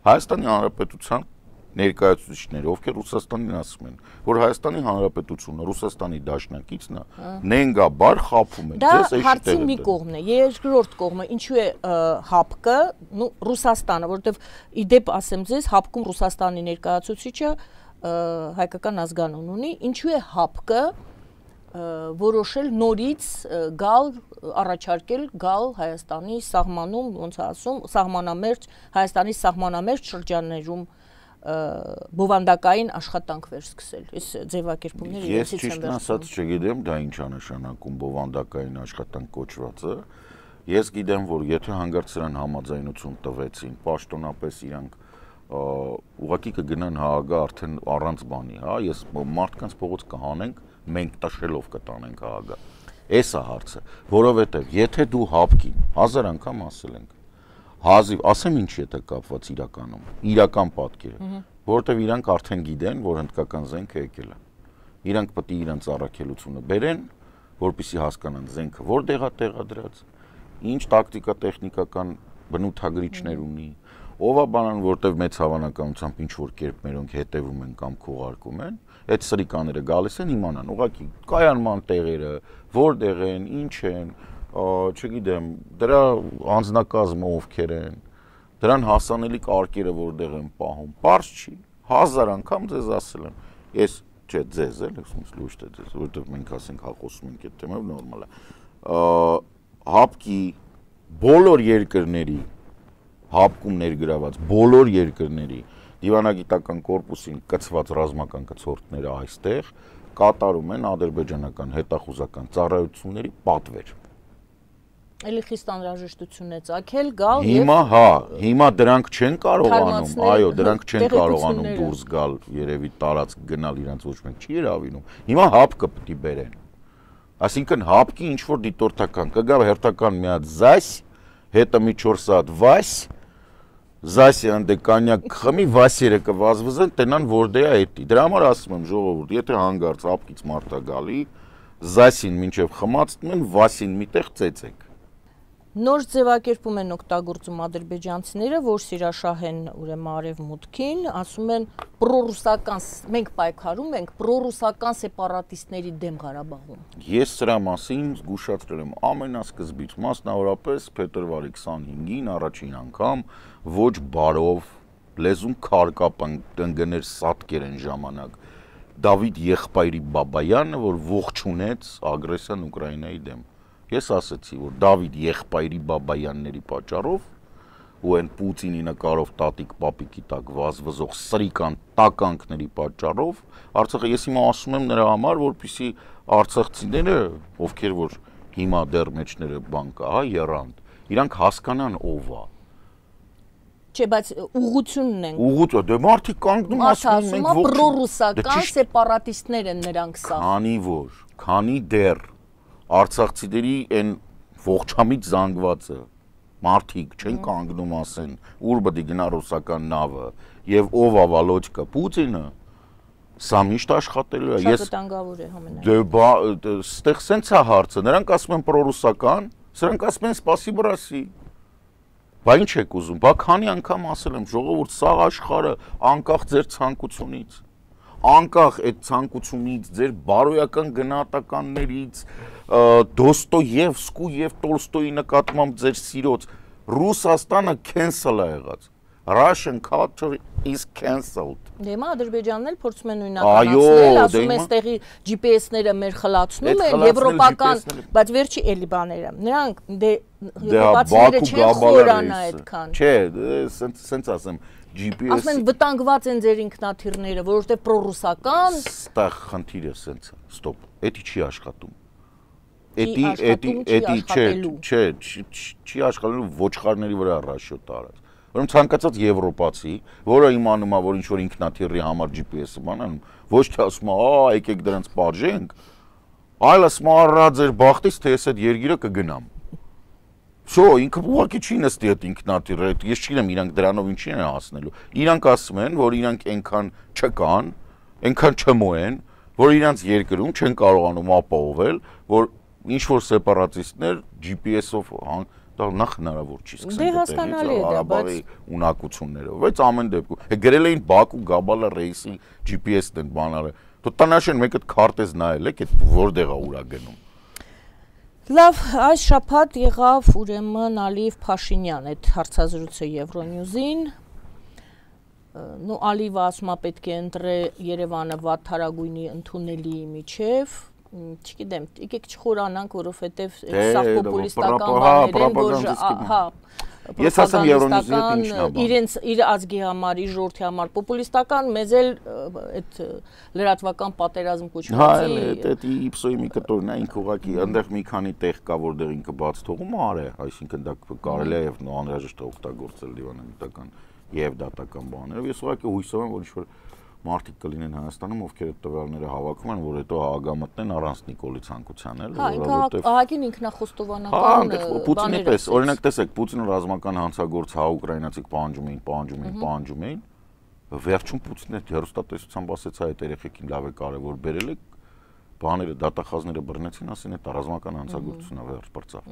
Հայաստանի Հանրապետության ներկայացուցիչները, ովքեր Ռուսաստանին ասում են, որ Հայաստանի Հանրապետությունը Ռուսաստանի դաշնակիցն է, նենգաբար խաբում են։ Դա հարցի մի կողմն է, երկրորդ կողմը, ինչու է Հապկը, նու Ռուսաստանը, որովհետև իդեպ ասեմ ձեզ, Հապկում Ռուսաստանի ներկայացուցիչը հայկական ազգանուն ունի, ինչու է Հապկը որոշել նորից գալ առաջարկել գալ Հայաստանի սահմանում, ոնց ասում, սահմանամերձ Հայաստանի սահմանամերձ շրջաններում բովանդակային աշխատանք վերսկսել։ Այս ձևակերպումները ես ճիշտ ասած չգիտեմ, դա ինչ է նշանակում բովանդակային աշխատանք կոչվածը։ Ես գիտեմ, որ եթե հանգարց սրան համաձայնություն տվեցին, պաշտոնապես իրանք ուղղակի կգնան Հաագա արդեն առանց բանի, հա, ես մարդկանց փողոց կհանենք, մենք տաշելով կտանենք Հաագա։ Էս է հարցը, որովհետև եթե դու Հապկին հազար անգամ ասել ենք, հազիվ, ասեմ ինչ եթե կապված իրականում, իրական պատկերը, որովհետև իրանք արդեն գիտեն, որ հնդկական զենքը եկել է։ Իրանք պետք է իրանց առաքելությունը բերեն, որպեսզի հասկանան զենքը որտեղ է տեղադրած, ինչ տակտիկա տեխնիկական բնութագրիչներ ունի, ով է բանան, որտեղ մեծ հավանականությամբ ինչ որ կերպ մերոնք հետևում են կամ քողարկում են, այդ սրիկաները գալիս են իմանան, ուղղակի կայանման տեղերը, որտեղ են, ինչ են, չգիտեմ, դրա անձնակազմը ովքեր են, դրան հասանելի կարգերը որտեղ են պահում, պարզ չի, հազար անգամ ձեզ ասել եմ, ես չէ ձեզ էլ, ես լույս թե ձեզ, որտեղ մենք ասենք հա խոսում ենք այդ թեմով նորմալ է, Հապկի բոլոր երկրների, Հապկում ներգրաված բոլոր երկրների դիվանագիտական կորպուսին կցված ռազմական կցորդները այստեղ կատարում են ադրբեջանական հետախուզական ծառայությունների պատվեր։ Էլի խիստ անհրաժեշտություն է ծագել գալ եւ Հիմա հա, հիմա դրանք չեն կարողանում, այո, դրանք չեն կարողանում դուրս գալ, երևի տարածք գնալ իրանց ոչ մեկ չի հրավիրում։ Հիմա Հապկը պետք է բերեն։ Այսինքն Հապկի ինչ որ դիտորդական կգա հերթական մի հատ զայս, հետը մի չորս հատ վայս, զայսի անդե կանյակ խմի, վասերը կվազվզեն, տենան որտեղ է էտի։ Դրա համար ասում եմ ժողովուրդ, եթե հանգարց Հապկից մարդ է գալի, զայսին մինչև խմացնում են, վասին միտեղ ծեծեք։ Նոր ձևակերպում են օգտագործում ադրբեջանցիները, որ սիրաշահ են ուրեմն արևմուտքին, ասում են պրոռուսական, մենք պայքարում ենք պրոռուսական սեպարատիստների դեմ Ղարաբաղում։ Ես սրա մասին զգուշացրել եմ ամենասկզբից, մասնավորապես փետրվարի քսանհինգին առաջին անգամ ոչ բարով լեզուն քարկապ ընկներ սատկեր են ժամանակ Դավիթ եղբայրի Բաբայանը, որ ողջունեց ագրեսիան Ուկրաինայի դեմ։ Ես ասացի, որ Դավիթ եղբայրի Բաբայանների պատճառով ու այն Պուտինի նկարով տատիկ պապիկի տակ վազվզող սրիկան տականքների պատճառով Արցախը ես հիմա ասում եմ նրա համար, որպեսզի արցախցիները, ովքեր որ հիմա դեռ մեջները բան կա, հա, եռանդ, իրանք հասկանան ով է։ Չէ, բայց ուղղությունն են։ Ուղղություն, դե մարդիկ կանգնում ասում են մենք ոչ պրոռուսական սեպարատիստներ են նրանք սա։ Քանի որ, քանի դեռ արցախցիների այն ողջամիտ զանգվածը մարդիկ չեն կանգնում ասեն, ուր պետք է գնա ռուսական նավը եւ ով է Վալոդկա Պուտինը, սա միշտ աշխատելու է։ Շատ վտանգավոր է համենայն։ Դե ստեղ սենց է հարցը, նրանք ասում են պրոռուսական, սրանք ասում են սպասի բրասի։ Բա ինչ եք ուզում, բա քանի անգամ ասել եմ, ժողովուրդ, սա աշխարհը անկախ ձեր ցանկությունից, անկախ այդ ցանկությունից, ձեր բարոյական գնահատականներից, Դոստոևսկու եւ Տոլստոյի նկատմամբ ձեր սիրոց, Ռուսաստանը cancel է եղած։ Russian culture is cancelled։ Դե մա Ադրբեջանն էլ փորձում է նույնականացնել, ասում է ստեղի G P S-ները մեր խլացնում են, եվրոպական, բայց վերջի էլի բաները։ Նրանք դե եվրոպացիները չեն խորանա այդքան։ Չէ, սենց ասեմ, G P S ասում են վտանգված են ձեր ինքնաթիռները, որովհետև պրոռուսական։ Ստեղ խնդիրը սենց է, ստոպ, էդի չի աշխատում։ Էդի, էդի, էդի, չէ, չէ, չի աշխատելու ոչխարների վրա ռաշյոտ արած։ Որում ցանկացած եվրոպացի, որը իմանում է, որ ինչ-որ ինքնաթիռի համար G P S-ը բանանում, ոչ թե ասում է, «Ա, եկեք դրանց պատժենք», այլ ասում է, «Առա ձեր բախտից, թե ես այդ երգիրը կգնամ»։ Շո, ինքը ուղղակի չի նստի այդ ինքնաթիռը, ես չգիտեմ իրանք դրանով ինչի են հասնելու։ Իրանք ասում են, որ իրանք այնքան չկան, այնքան չմոեն, որ իրանք երկրում չեն կարողանում ապահովել, որ ինչ որ սեպարատիստներ G P S-ով դա նախ հնարավոր չի սկսել Ղարաբաղի ունակություններով, բայց ամեն դեպքում գրել էին Բաքու Գաբալա ռեյսի G P S-ն են բանալը։ Դու տանաշեն մեկ այդ քարտեզ նայել եք, այդ որտեղ է ուրա գնում։ Լավ, այս շաբաթ եղավ ուրեմն Ալիև Փաշինյան այդ հարցազրույցը Եվրոնյուզին։ Նու Ալիևը ասում է պետք է ընտրե Երևանը վատթարագույնի ընդունելի միջև։ Չգիտեմ, եկեք չխորանանք, որովհետև սա պոպուլիստական բաներ են, որ հա, ես ասեմ Եվրոնյուզի հետ ինչն է բան։ Իրենց իր ազգի համար, իր ժողովրդի համար պոպուլիստական, մեզ էլ այդ լրատվական պատերազմ կոչվածի։ Հա, այդ իպսոյի մի կտորն է, ինքը ուղղակի այնտեղ մի քանի տեղ կա, որտեղ ինքը բաց թողում արե, այսինքն դա կարելի է եւ անհրաժեշտ է օգտագործել դիվանագիտական եւ դատական բաներով։ Ես ուղղակի հույսով եմ, որ ինչ-որ մարդիկ կլինեն Հայաստանում, ովքեր այդ տվյալները հավաքում են, որ հետո հաղագամտնեն առանց Նիկոլի ցանկության էլ, որովհետև ահագին ինքնախոստովանական Պուտինի պես, օրինակ տեսեք, Պուտինը ռազմական հանցագործ հա ուկրաինացիք պահանջում էին, պահանջում էին, պահանջում էին, վերջում Պուտինը հեռուստատեսությամբ ասեց այդ երեխեքին լավ է կարևոր բերել եք, բաները դատախազները բռնեցին, ասին այդ ռազմական հանցագործությունն է վերջ բրծավ։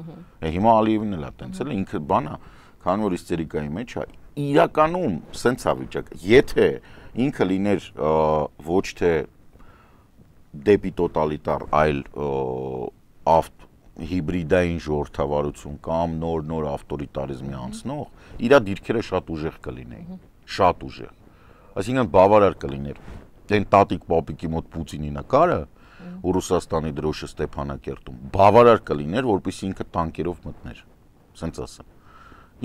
Հիմա Ալիևին էլ է տենցել, ինքը բանա, քանի որ իստերիկայի մեջ է, իրականում սենց է վիճակը, եթե ինքը լիներ ոչ թե դեպի տոտալիտար, այլ ավտ հիբրիդային ժողովրդավարություն կամ նոր-նոր ավտորիտարիզմի անցնող, իր դիրքերը շատ ուժեղ կլինեին, շատ ուժեղ։ Այսինքն բավարար կլիներ դեն տատիկ պապիկի մոտ Պուտինի նկարը ու Ռուսաստանի դրոշը Ստեփանակերտում, բավարար կլիներ, որպեսզի ինքը տանկերով մտներ, սենց ասեմ։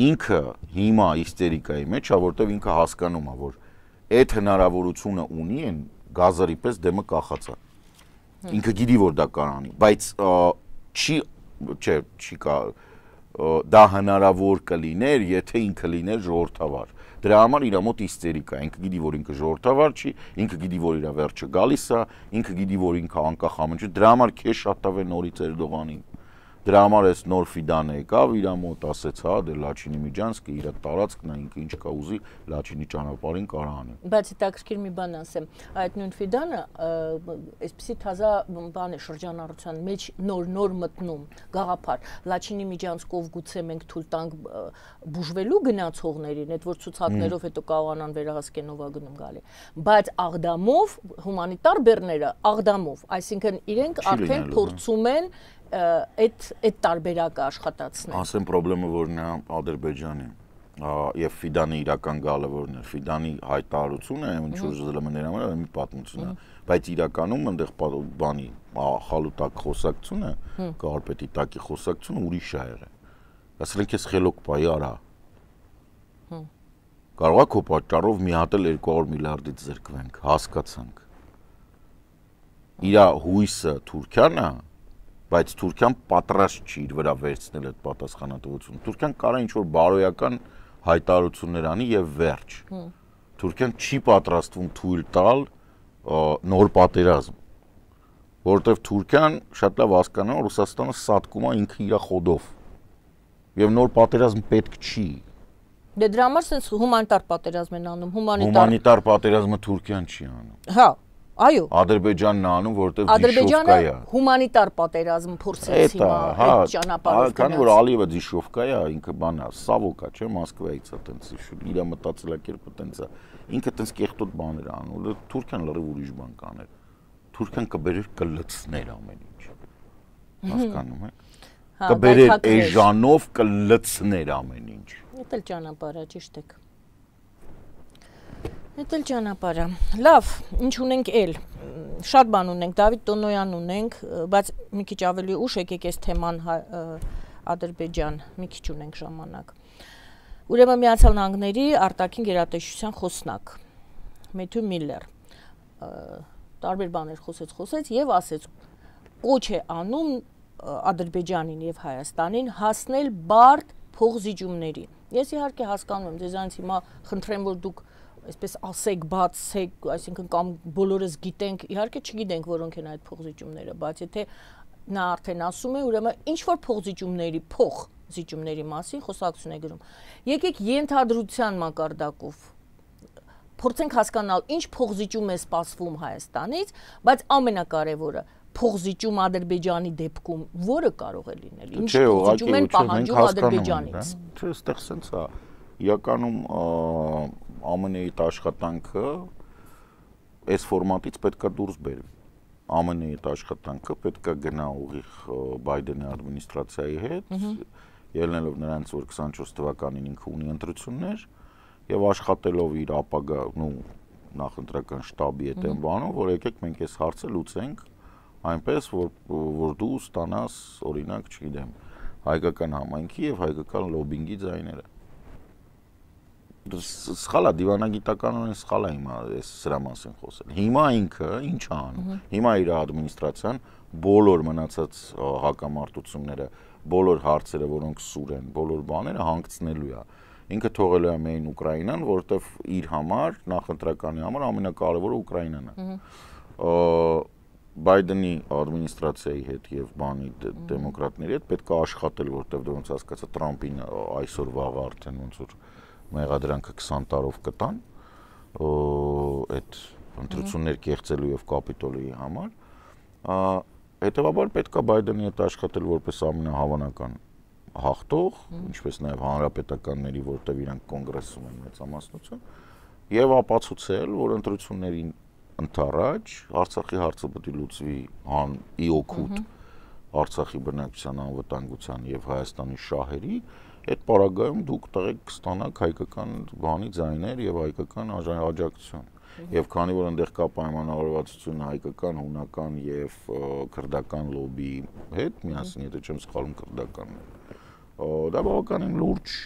Ինքը հիմա իստերիկայի մեջ է, որտեղ ինքը հասկանում է, որ այդ հնարավորությունը ունի են գազարի պես դեմը կախած է։ Ինքը գիտի, որ դա կարանի, բայց չի, չէ, չի կա, դա հնարավոր կլիներ, եթե ինքը լիներ ժողովրդավար։ Դրա համար իր մոտ իստերիկա, ինքը գիտի, որ ինքը ժողովրդավար չի, ինքը գիտի, որ իր վերջը գալիս է, ինքը գիտի, որ ինքը անկախ ամեն ինչ, դրա համար քեզ շատավ է նորից Էրդողանին։ Դրա համար էս նոր Ֆիդանը եկավ, իր մոտ ասեց, հա, դե Լաչինի Միջանսկը իր տարածքն է, ինքը ինչ կա ուզի Լաչինի ճանապարհին կարա անի։ Բայց հետաքրքիր մի բան ասեմ, այդ նույն Ֆիդանը այսպեսի թազա բան է շրջանառության մեջ նոր-նոր մտնում, գաղափար։ Լաչինի Միջանսկով գուցե մենք թույլ տանք բուժվելու գնացողներին, այդ որ ցուցակներով հետո կարողանան վերահասկեն ով է գնում գալի։ Բայց աղդամով հումանիտար բեռները աղդամով, այսինքն իրենք արդեն փորձում են այդ այդ տարբերակը աշխատացնել։ Ասեմ խնդրեմը որն է Ադրբեջանի եւ Ֆիդանի իրական գալը որն է, Ֆիդանի հայտարարությունը, ինչ որ զլմները համար մի պատմություն է, բայց իրականում այնտեղ բանի խալուտակ խոսակցությունը, կարպետի տակի խոսակցությունը ուրիշ է եղել։ Ասել են քեզ խելոք բայ արա։ Կարող է քո պատճառով մի հատ էլ երկու հարյուր միլիարդից զրկվենք, հասկացանք։ Իր հույսը Թուրքիան է, բայց Թուրքիան պատրաստ չի իր վրա վերցնել այդ պատասխանատվությունը։ Թուրքիան կարող է ինչ-որ բարոյական հայտարարություններ անի եւ վերջ։ Թուրքիան չի պատրաստվում թույլ տալ նոր պատերազմ, որովհետեւ Թուրքիան շատ լավ հասկանում է, որ Ռուսաստանը սատկում է ինքը իր խոդով։ Եվ նոր պատերազմ պետք չի։ Դե դրա համար sense հումանիտար պատերազմ են անում, հումանիտար Հումանիտար պատերազմը Թուրքիան չի անում։ Հա, այո։ Ադրբեջանն է անում, որովհետև Ադրբեջանը հումանիտար պատերազմ փորձեց հիմա այդ ճանապարհով։ Քանի որ Ալիևը Դիշովկա է, ինքը բան է, Սավոկա, չէ, Մոսկվայից է տենց, իր մտածելակերպը տենց է։ Ինքը տենց կեղտոտ բաներ է անում, Թուրքիան լրիվ ուրիշ բան կաներ։ Թուրքիան կբերեր կլցներ ամեն ինչ։ Հասկանում եք։ Կբերեր էժանով կլցներ ամեն ինչ։ Դա էլ ճանապարհ է, ճիշտ եք։ Դա էլ ճանապարհ է։ Լավ, ինչ ունենք էլ։ Շատ բան ունենք, Դավիթ Տոնոյան ունենք, բայց մի քիչ ավելի ուշ եկեք այս թեման Ադրբեջան, մի քիչ ունենք ժամանակ։ Ուրեմն Միացյալ Նահանգների արտաքին գերատեսչության խոսնակ Մեթյու Միլլեր տարբեր բաներ խոսեց, խոսեց եւ ասեց կոչ է անում Ադրբեջանին եւ Հայաստանին հասնել բարդ փողզիջումների։ Ես իհարկե հասկանում եմ, ձեզանից հիմա խնդրեմ, որ դուք այսպես ասեք, բացեք, այսինքն կամ բոլորս գիտենք, իհարկե չգիտենք, որոնք են այդ փողզիջումները, բայց եթե նա արդեն ասում է, ուրեմն ինչ որ փողզիջումների, փողզիջումների մասին խոսակցություն է գրում։ Եկեք ենթադրության մակարդակով փորձենք հասկանալ, ինչ փողզիջում է սպասվում Հայաստանից, բայց ամենակարևորը փողզիջում Ադրբեջանի դեպքում որը կարող է լինել, ինչ փողզիջում են պահանջում Ադրբեջանից։ Չէ, այստեղ սենց է, իրականում ԱՄՆ-ի աշխատանքը այս ֆորմատից պետքա դուրս բերվի։ ԱՄՆ-ի աշխատանքը պետքա գնա ուղիղ Բայդենի ադմինիստրացիայի հետ, ելնելով նրանց, որ քսանչորս թվականին ինքը ունի ընտրություններ եւ աշխատելով իր ապագա, նու նախընտրական շտաբի հետ են բանում, որ եկեք մենք այս հարցը լուծենք այնպես, որ որ դու ստանաս, օրինակ, չգիտեմ, հայկական համայնքի եւ հայկական լոբինգի ձայները։ Սխալ է, դիվանագիտականորեն սխալ է հիմա այս սրա մասին խոսել։ Հիմա ինքը ինչ է անում։ Հիմա իր ադմինիստրացիան բոլոր մնացած հակամարտությունները, բոլոր հարցերը, որոնք սուր են, բոլոր բաները հանգցնելու է։ Ինքը թողելու է միայն Ուկրաինան, որովհետեւ իր համար նախընտրականի համար ամենակարևորը Ուկրաինան է։ Բայդենի ադմինիստրացիայի հետ եւ բանի դեմոկրատների հետ պետք է աշխատել, որովհետեւ դու ոնց հասկացա Տրամփին այսօր վաղ արդեն ոնց որ մեղադրանքը քսան տարով կտան այդ ընտրություններ կեղծելու եւ կապիտոլիի համար, հետեւաբար պետք է Բայդենի հետ աշխատել որպես ամենահավանական հաղթող, ինչպես նաեւ հանրապետականների, որտեղ իրանք կոնգրեսում են մեծամասնություն, եւ ապացուցել, որ ընտրություններին ընթառաջ Արցախի հարցը պետք է լուծվի հան ի օգուտ Արցախի բնակչության անվտանգության եւ Հայաստանի շահերի, այդ պարագայում դուք տեղեկ կստանաք հայկական բանի ձայներ եւ հայկական աջակցություն։ Եվ քանի որ այնտեղ կա պայմանավորվածություն հայկական, հունական եւ քրդական լոբիի հետ, միասին, եթե չեմ սխալվում, քրդականն է, դա բավականին լուրջ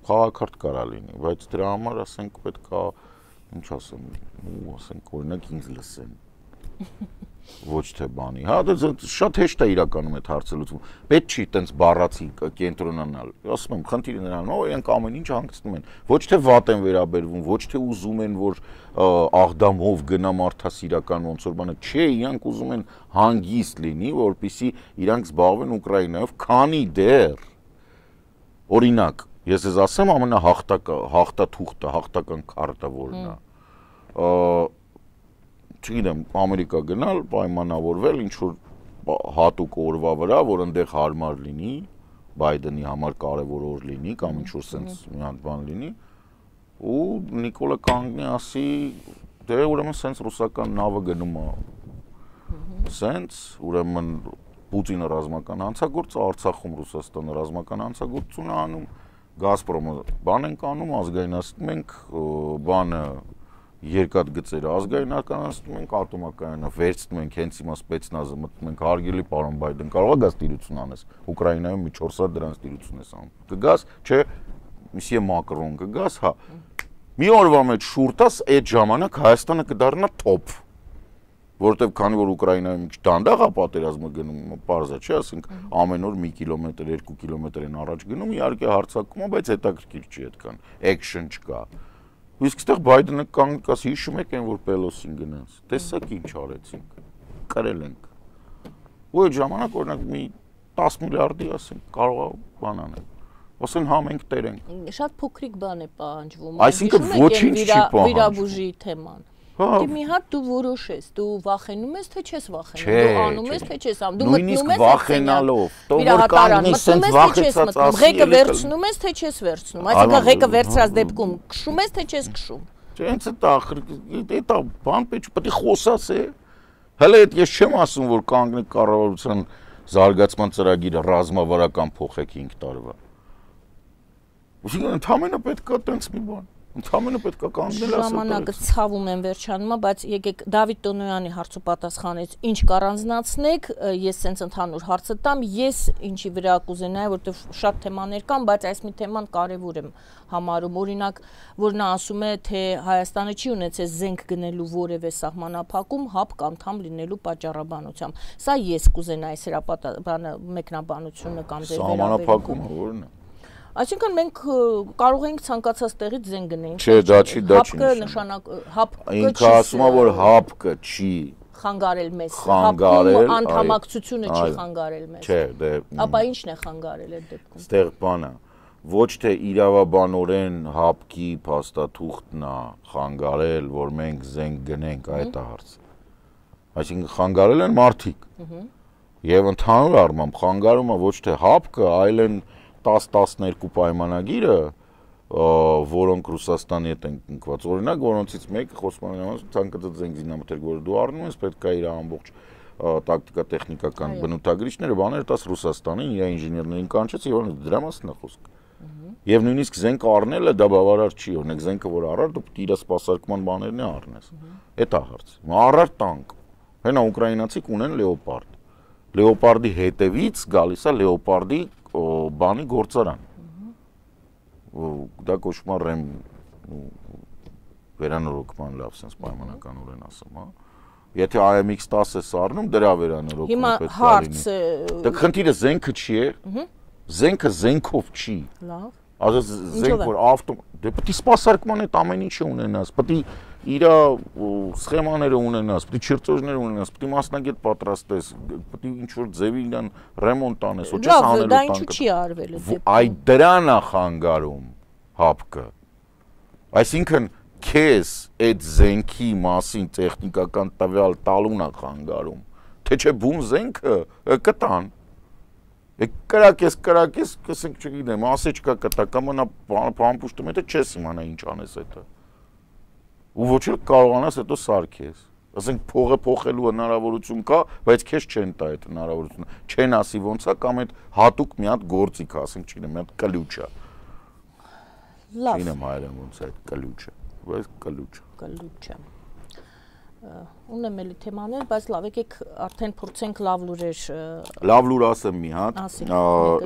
քաղաքարտ կարա լինի, բայց դրա համար ասենք պետքա ինչ ասեմ, ու ասենք օրինակ ինձ լսեն, ոչ թե բանի, հա, դա շատ հեշտ է իրականում այդ հարցը լուծվում, պետք չի տենց բառացի կենտրոնանալ, ասում եմ, խնդիրը նրան, օ, իրենք ամեն ինչ հանգցնում են, ոչ թե վատ են վերաբերվում, ոչ թե ուզում են, որ աղդամով գնա մարդասիրական ոնց որ բանը, չէ, իրանք ուզում են հանգիստ լինի, որպեսզի իրանք զբաղվեն Ուկրաինայով, քանի դեռ, օրինակ, ես ես ասեմ ամենահաղթակա հաղթաթուղթը, հաղթական քարտը որն է։ Չգիտեմ, Ամերիկա գնալ, պայմանավորվել ինչ որ հատուկ օրվա վրա, որ այնտեղ հարմար լինի, Բայդենի համար կարևոր օր լինի, կամ ինչ որ sense մի հատ բան լինի, ու Նիկոլա կանգնի ասի, դե ուրեմն sense ռուսական նավը գնում է։ Sense, ուրեմն Պուտինը ռազմական հանցագործ, Արցախում Ռուսաստանը ռազմական հանցագործություն է անում, Գազպրոմը բան ենք անում, ազգայնացնում ենք, բանը երկաթգծերը ազգայնականացնում ենք, ատոմակայանը վերցնում ենք, հենց հիմա սպեցնազը մտնում ենք, հարգելի պարոն Բայդեն, կարող է գազ տիրություն անես, Ուկրաինայում մի չորս հատ դրանց տիրություն ես անում։ Կգաս, չէ, Միսիե Մակրոն կգաս, հա։ Մի օրվա մեջ շուրտաս այդ ժամանակ Հայաստանը կդառնա top, որովհետև քանի որ Ուկրաինայում մի քիչ դանդաղ է պատերազմը գնում, պարզա չէ, ասենք ամեն օր մի կիլոմետր, երկու կիլոմետր են առաջ գնում, իհարկե հարձակվում է, բայց հետաքրքիր չի այդքան, action չկա։ Իսկ այստեղ Բայդենը կանգնած հիշում եք այն որ Պելոսին գնաց, տեսակ ինչ արեցինք, կրել ենք։ Ու այդ ժամանակ օրինակ մի տասը միլիարդի ասենք կարող է բան անել։ Ասեն հա մենք տեր ենք։ Շատ փոքրիկ բան է պահանջվում։ Այսինքն ոչինչ չի պահանջվում։ Վիրաբուժի թեման։ Դե մի հատ դու որոշես, դու վախենում ես թե չես վախենում, դու անում ես թե չես անում, դու մտնում ես վախենալով, դու որ կանգնես սենց վախեցած ասի, ղեկը վերցնում ես թե չես վերցնում, այսինքն ղեկը վերցրած դեպքում քշում ես թե չես քշում։ Չէ, հենց այդ ախր, դա բան պետք է խոսաս է։ Հələ այդ ես չեմ ասում որ կանգնեք կառավարության զարգացման ծրագիրը ռազմավարական փոխեք հինգ տարվա։ Ուսինքն ընդհանրապես պետք է տենց մի բան։ Ընդհանրապես պետք է կանգնել ասել։ Ժամանակը ցավում են վերջանում, բայց եկեք Դավիթ Տոնոյանի հարցու պատասխանից ինչ կառանձնացնեք, ես սենց ընդհանուր հարցը տամ, ես ինչի վրա կուզենայի, որտեղ շատ թեմաներ կան, բայց այս մի թեման կարևոր եմ համարում, օրինակ, որ նա ասում է, թե Հայաստանը չի ունեցել զենք գնելու որևէ սահմանափակում հապ անդամ լինելու պատճառաբանությամբ։ Սա ես կուզենայի հրապարականը մեկնաբանությունը կամ ձեր սահմանափակումը որն է։ Այսինքն մենք կարող ենք ցանկացած տեղից զենք գնենք։ Չէ, դա չի, դա չի։ Հապկը նշանակ հապկը ինքը ասում է որ հապկը չի խանգարել մեզ։ Խանգարել, անդամակցությունը չի խանգարել մեզ։ Չէ, դե Ապա ի՞նչն է խանգարել այդ դեպքում։ Ստեղ բանը ոչ թե իրավաբանորեն հապկի փաստաթուղթն է խանգարել, որ մենք զենք գնենք, այդ է հարցը։ Այսինքն խանգարել են մարդիկ։ Եվ ընդհանուր առմամբ խանգարում է ոչ թե հապկը, այլ են տասը տասներկու պայմանագիրը, որոնք Ռուսաստանի հետ են կնքված, օրինակ, որոնցից մեկը խոսում է ցանկացած զենք զինամթերք, որ դու առնում ես, պետք է իր ամբողջ տակտիկա-տեխնիկական բնութագրիչները, բաները տաս Ռուսաստանին, իր ինժեներներին կանչեց, եւ դրա մասին է խոսքը։ Եվ նույնիսկ զենք առնելը դա բավարար չի, օրինակ զենքը որ առար, դու պետք է իր սպասարկման բաներն է առնես։ Էդ է հարցը։ Առար տանկ։ Հենա ուկրաինացիք ունեն լեոպարդ։ Լեոպարդի հետևից գալիս է լեոպարդի բանի գործարան։ Դա կոչվում է ռեմ վերանորոգման լավ sense պայմանականորեն ասեմ, հա։ Եթե I M X տասը սառնում, դրա վերանորոգումը պետք է լինի։ Դա խնդիրը զենքը չի է։ Զենքը զենքով չի։ Լավ։ Ասես զենք որ ավտո դե պետք է սպասարկման այդ ամեն ինչը ունենաս, պետք է իր սխեմաները ունենաս, պետք է չրծոժներ ունենաս, պետք է մասնագետ պատրաստես, պետք է ինչ որ ձևի իրան ռեմոնտ անես, ոչ ես անելու տանկը։ Դա ինչու չի արվել այդ դեպքում։ Այ դրան է խանգարում հապկը։ Այսինքն քեզ այդ զենքի մասին տեխնիկական տվյալ տալուն է խանգարում, թե չէ բուն զենքը կտան։ Կրակես, կրակես, կսենք չգիտեմ, ասեչկա կտա, կամ նա պամպուշտում հետը չես իմանա ինչ անես հետը։ Ու ոչ էլ կարողանաս հետո սարքես։ Ասենք փողը փոխելու հնարավորություն կա, բայց քեզ չեն տա այդ հնարավորությունը։ Չեն ասի ոնց է կամ այդ հատուկ մի հատ գործիք, ասենք չգիտեմ, մի հատ կլուչ է։ Լավ։ Չինեմ հայերեն ոնց է այդ կլուչը, բայց կլուչ։ Կլուչը։ Ունեմ էլի թեմաներ, բայց լավ, եկեք արդեն փորձենք լավ լուրեր։ Լավ լուր ասեմ մի հատ,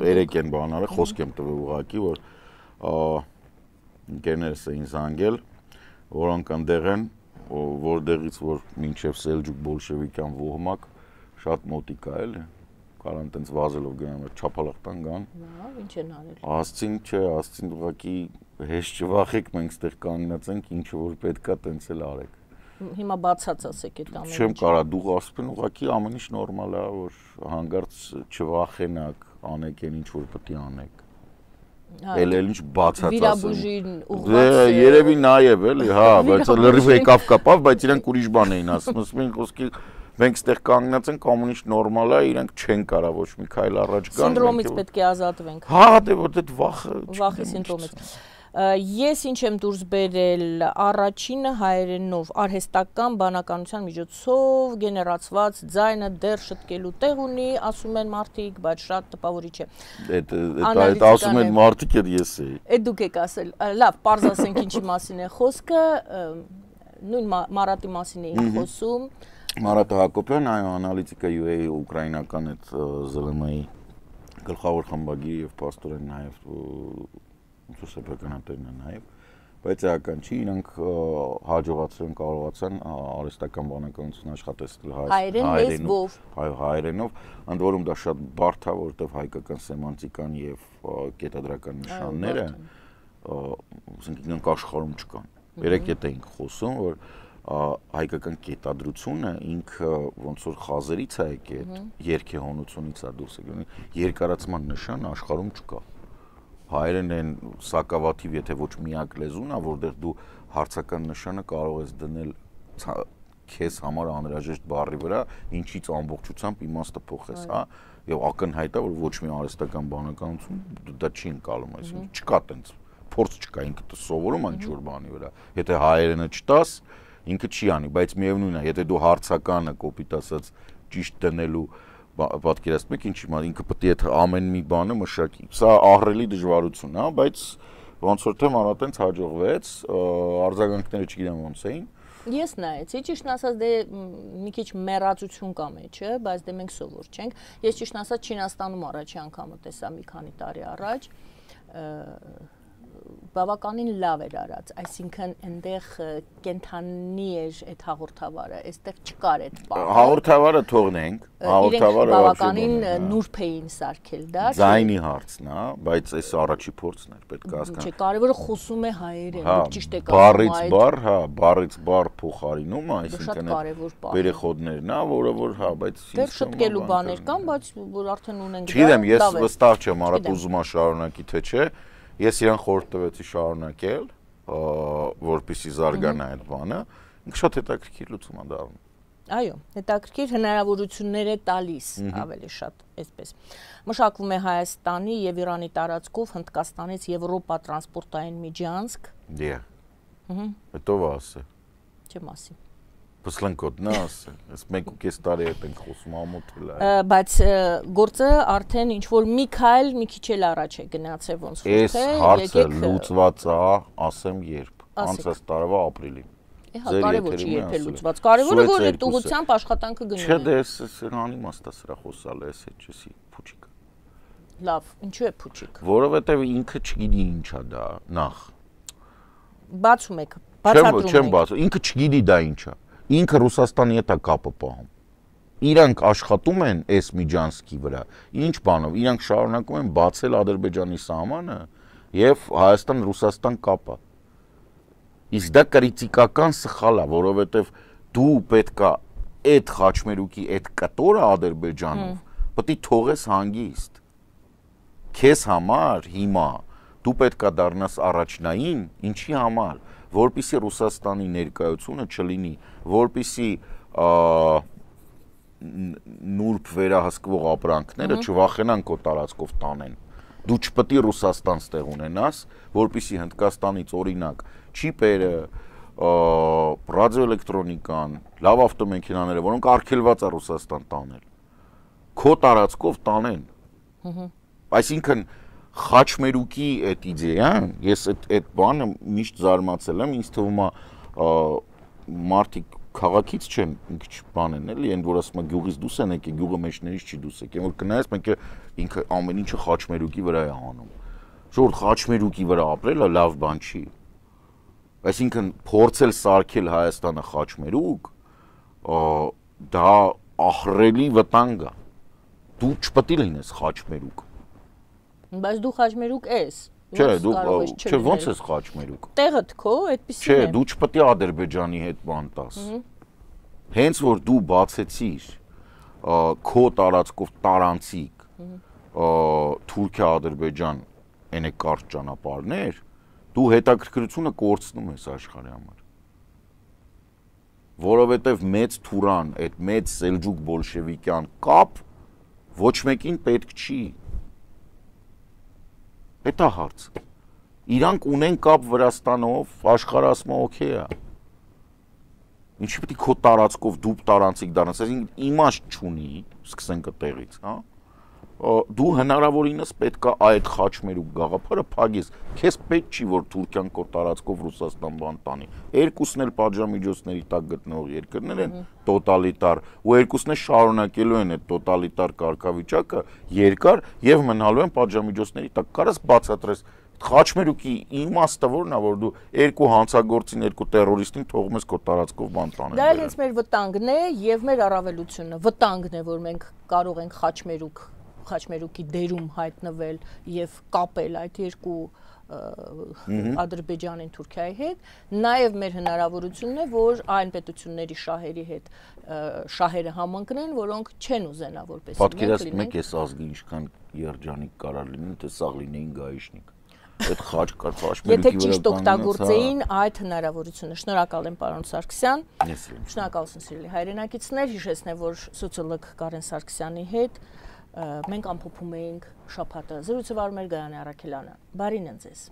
երեք են բանարը, խոսք եմ տվել ուղղակի, որ ընկերներս էին զանգել, որոնք ընդեղ են, որտեղից որ մինչև Սելջուկ բոլշևիկյան ոհմակ շատ մոտիկ է էլի, կարան տենց վազելով գնան, չափալախտան գան։ Լավ, ինչ են արել։ Ասցին, չէ, ասցին ուղղակի հեշտ չվախեք, մենք ստեղ կանգնած ենք, ինչ որ պետքա տենց էլ արեք։ Հիմա բացած ասեք այդ ամենը։ Չեմ կարա դու ասում ուղղակի ամեն ինչ նորմալ է, որ հանգարց չվախենակ, անեք այն ինչ որ պետք է անեք։ Էլ էլ ինչ բացած ասեմ։ Վիրաբուժին ուղղված։ Դե երևի նաև էլի, հա, բայց լրիվ եկավ կապավ, բայց իրանք ուրիշ բան էին ասում, ասում են խոսքի մենք ստեղ կանգնած ենք, ամեն ինչ նորմալ է, իրանք չեն կարա ոչ մի քայլ առաջ գան։ Սինդրոմից պետք է ազատվենք։ Հա, դե որ այդ վախը։ Վախի սինդրոմից։ Ես ինչ եմ դուրս բերել առաջինը հայերենով արհեստական բանականության միջոցով գեներացված ձայնը դեռ շտկելու տեղ ունի, ասում են մարդիկ, բայց շատ տպավորիչ է։ Այդ ասում են մարդիկ, այդ ես էի։ Այդ դուք եք ասել։ Լավ, պարզ ասենք ինչի մասին է խոսքը, նույն Մարատի մասին էինք խոսում։ Մարատ Հակոբյան, այո, անալիտիկա յու էյ ուկրաինական այդ ԶԼՄ-ի գլխավոր խմբագիր եւ պաստորեն նաեւ ոնց որ սեփականատերն է նաև, բայց էական չի, իրանք հաջողացել են կարողացան արհեստական բանականություն աշխատեցնել հայերենով, հայերենով, ընդ որում դա շատ բարդ է, որովհետև հայկական սեմանտիկան եւ կետադրական նշանները, ասենք իրանք աշխարհում չկան։ Երեք ետ էինք խոսում, որ հայկական կետադրությունը ինքը ոնց որ խազերից է եկել, երկեհոնությունից է դուրս եկել, երկարացման նշան աշխարհում չկա։ Հայերեն են սակավաթիվ, եթե ոչ միակ լեզուն է, որտեղ դու հարցական նշանը կարող ես դնել քեզ համար անհրաժեշտ բառի վրա, ինչից ամբողջությամբ իմաստը փոխես, հա, եւ ակնհայտ է, որ ոչ մի արհեստական բանականություն դա չի ընկալում, այսինքն չկա տենց փորձ չկա, ինքը սովորում է ինչ-որ բանի վրա։ Եթե հայերենը չտաս, ինքը չի անի, բայց միևնույն է, եթե դու հարցականը կոպիտ ասած ճիշտ դնելու պատկերացնում եք ինչի մա ինքը պետք է այդ ամեն մի բանը մշակի։ Սա ահռելի դժվարություն է, բայց ոնց որ թե մանա տենց հաջողվեց, արձագանքները չգիտեմ ոնց էին։ Ես նայեցի, ճիշտ ասած դե մի քիչ մեռածություն կա մեջը, բայց դե մենք սովոր չենք։ Ես ճիշտ ասած Չինաստանում առաջի անգամը տեսա մի քանի տարի առաջ, բավականին լավ էր արած, այսինքն այնտեղ կենթանի էր այդ հաղորդավարը, այստեղ չկար այդ բանը։ Հաղորդավարը թողնենք, հաղորդավարը բավականին նուրբ էին սարքել դա։ Ձայնի հարցն է, բայց այս առաջի փորձն էր, պետք է հասկանալ։ Չէ, կարևորը խոսում է հայերեն, դուք ճիշտ եք ասում։ Բառից բառ, հա, բառից բառ փոխարինումը, այսինքն վերեխոդներն է, որը որ հա, բայց դեռ շտկելու բաներ կան, բայց որ արդեն ունենք դա։ Չգիտեմ, ես վստահ չեմ, առատ ուզում եմ շարունակի թե չէ։ Ես իրան խորհուրդ տվեցի շարունակել, որպեսզի զարգանա այդ բանը, ինքը շատ հետաքրքիր լուծում է դառնում։ Այո, հետաքրքիր հնարավորություններ է տալիս ավելի շատ, այսպես։ Մշակվում է Հայաստանի եւ Իրանի տարածքով Հնդկաստանից Եվրոպա տրանսպորտային միջանցք։ Դե։ Ահա։ Հետո ասե։ Չեմ ասի։ Պսլենկոտ նա ասե, այս մեկ ու կես տարի հետ ենք խոսում ամոթել է։ Բայց գործը արդեն ինչ որ մի քայլ մի քիչ էլ առաջ է գնացել ոնց որ թե։ Այս հարցը լուծված է, ասեմ երբ, անցած տարվա ապրիլին։ Հա, կարևոր չի երբել լուծված։ Կարևորը որ այդ ուղղությամբ աշխատանքը գնում է։ Չէ, դե սրանի իմաստա սրա խոսալ է, էս էջի փուչիկ։ Լավ, ինչու է փուչիկ։ Որովհետև ինքը չգիտի ինչ է դա, նախ։ Բացում եք, բացատրում եք։ Չեմ բացում, ինքը չգիտի դա ինչ է։ Ինքը Ռուսաստանի հետ է կապը պահում։ Իրանք աշխատում են այս միջանցքի վրա։ Ինչ բանով, իրանք շարունակում են բացել Ադրբեջանի սահմանը եւ Հայաստան-Ռուսաստան կապը։ Իսկ դա կրիտիկական սխալ է, որովհետեւ դու պետքա այդ խաչմերուկի այդ կտորը Ադրբեջանով պետք է թողես հանգիստ։ Քեզ համար հիմա դու պետքա դառնաս առաջնային, ինչի համար, որպեսզի Ռուսաստանի ներկայությունը չլինի, որպեսզի նուրբ վերահսկվող ապրանքները չվախենան քո տարածքով տանեն։ Դու չպետք է Ռուսաստան ստեղ ունենաս, որպեսզի Հնդկաստանից օրինակ չիպերը, ռադիոէլեկտրոնիկան, լավ ավտոմեքենաները, որոնք արգելված է Ռուսաստան տանել, քո տարածքով տանեն։ Այսինքն խաչմերուկի այդ իդեան, ես այդ այդ բանը միշտ զարմացել եմ, ինձ թվում է մարդիկ քաղաքից չեն ինչ բան են էլի, այն որ ասում է գյուղից դուրս են եկել, գյուղը մեջներից չի դուրս եկել, որ կնայես մենք ինքը ամեն ինչը խաչմերուկի վրա է անում։ Ժողովուրդ խաչմերուկի վրա ապրելը լավ բան չի։ Այսինքն փորձել սարքել Հայաստանը խաչմերուկ, դա ահռելի վտանգ է։ Դու չպետք է լինես խաչմերուկ։ Բայց դու խաչմերուկ ես։ Չէ, դու չէ, ոնց ես խաչմերուկ։ Տեղդ քո այդպեսին է։ Չէ, դու չպետք է Ադրբեջանի հետ բան տաս։ Հենց որ դու բացեցիր քո տարածքով տարանցիկ Թուրքիա-Ադրբեջան այնե կարճ ճանապարհներ, դու հետաքրքրությունը կորցնում ես աշխարհի համար։ Որովհետև մեծ թուրան, այդ մեծ սելջուկ բոլշևիկյան կապ ոչ մեկին պետք չի։ Դա հարց։ Իրանք ունեն կապ Վրաստանով, աշխարհը ասում է օքեյ է։ Ինչի՞ պետք է քո տարածքով դու տարանցիկ դառնաս, այսինքն իմաստ չունի, սկսենք այդտեղից, հա։ Դու հնարավորինս պետքա այդ խաչմերուկ գաղափարը փակես։ Քեզ պետք չի որ Թուրքիան քո տարածքով Ռուսաստան բան տանի։ Երկուսն էլ պատժամիջոցների տակ գտնող երկրներ են, տոտալիտար, ու երկուսն էլ շարունակելու են այդ տոտալիտար կարգավիճակը երկար եւ մնալու են պատժամիջոցների տակ։ Կարաս բացատրես Խաչմերուկի իմաստը որն է, որ դու երկու հանցագործին, երկու տերորիստին թողում ես քո տարածքով բան տանել։ Դա էլ հենց մեր վտանգն է եւ մեր առավելությունը։ Վտանգն է, որ մենք կարող ենք խաչմերուկ, խաչմերուկի դերում հայտնվել եւ կապել այդ երկու Ադրբեջանին, Թուրքիայի հետ, նաեւ մեր հնարավորությունն է, որ այն պետությունների շահերի հետ շահերը համընկնեն, որոնք չեն ուզենա որպես մենք լինենք։ Պատկերացնում եք, այս ազգի ինչքան երջանիկ կարող լինի, թե սաղ լինեին գայիշնիկ։ Այդ խաչ կար խաչմերուկի վրա։ Եթե ճիշտ օգտագործեին այդ հնարավորությունը։ Շնորհակալ եմ, պարոն Սարգսյան։ Շնորհակալություն, սիրելի հայրենակիցներ, հիշեցնեմ, որ սոցիոլոգ Կարեն Սարգսյանի հետ մենք ամփոփում էինք շաբաթը։ Զրույցը վարում էր Գայանե Առաքելյանը։ Բարին ընձեզ։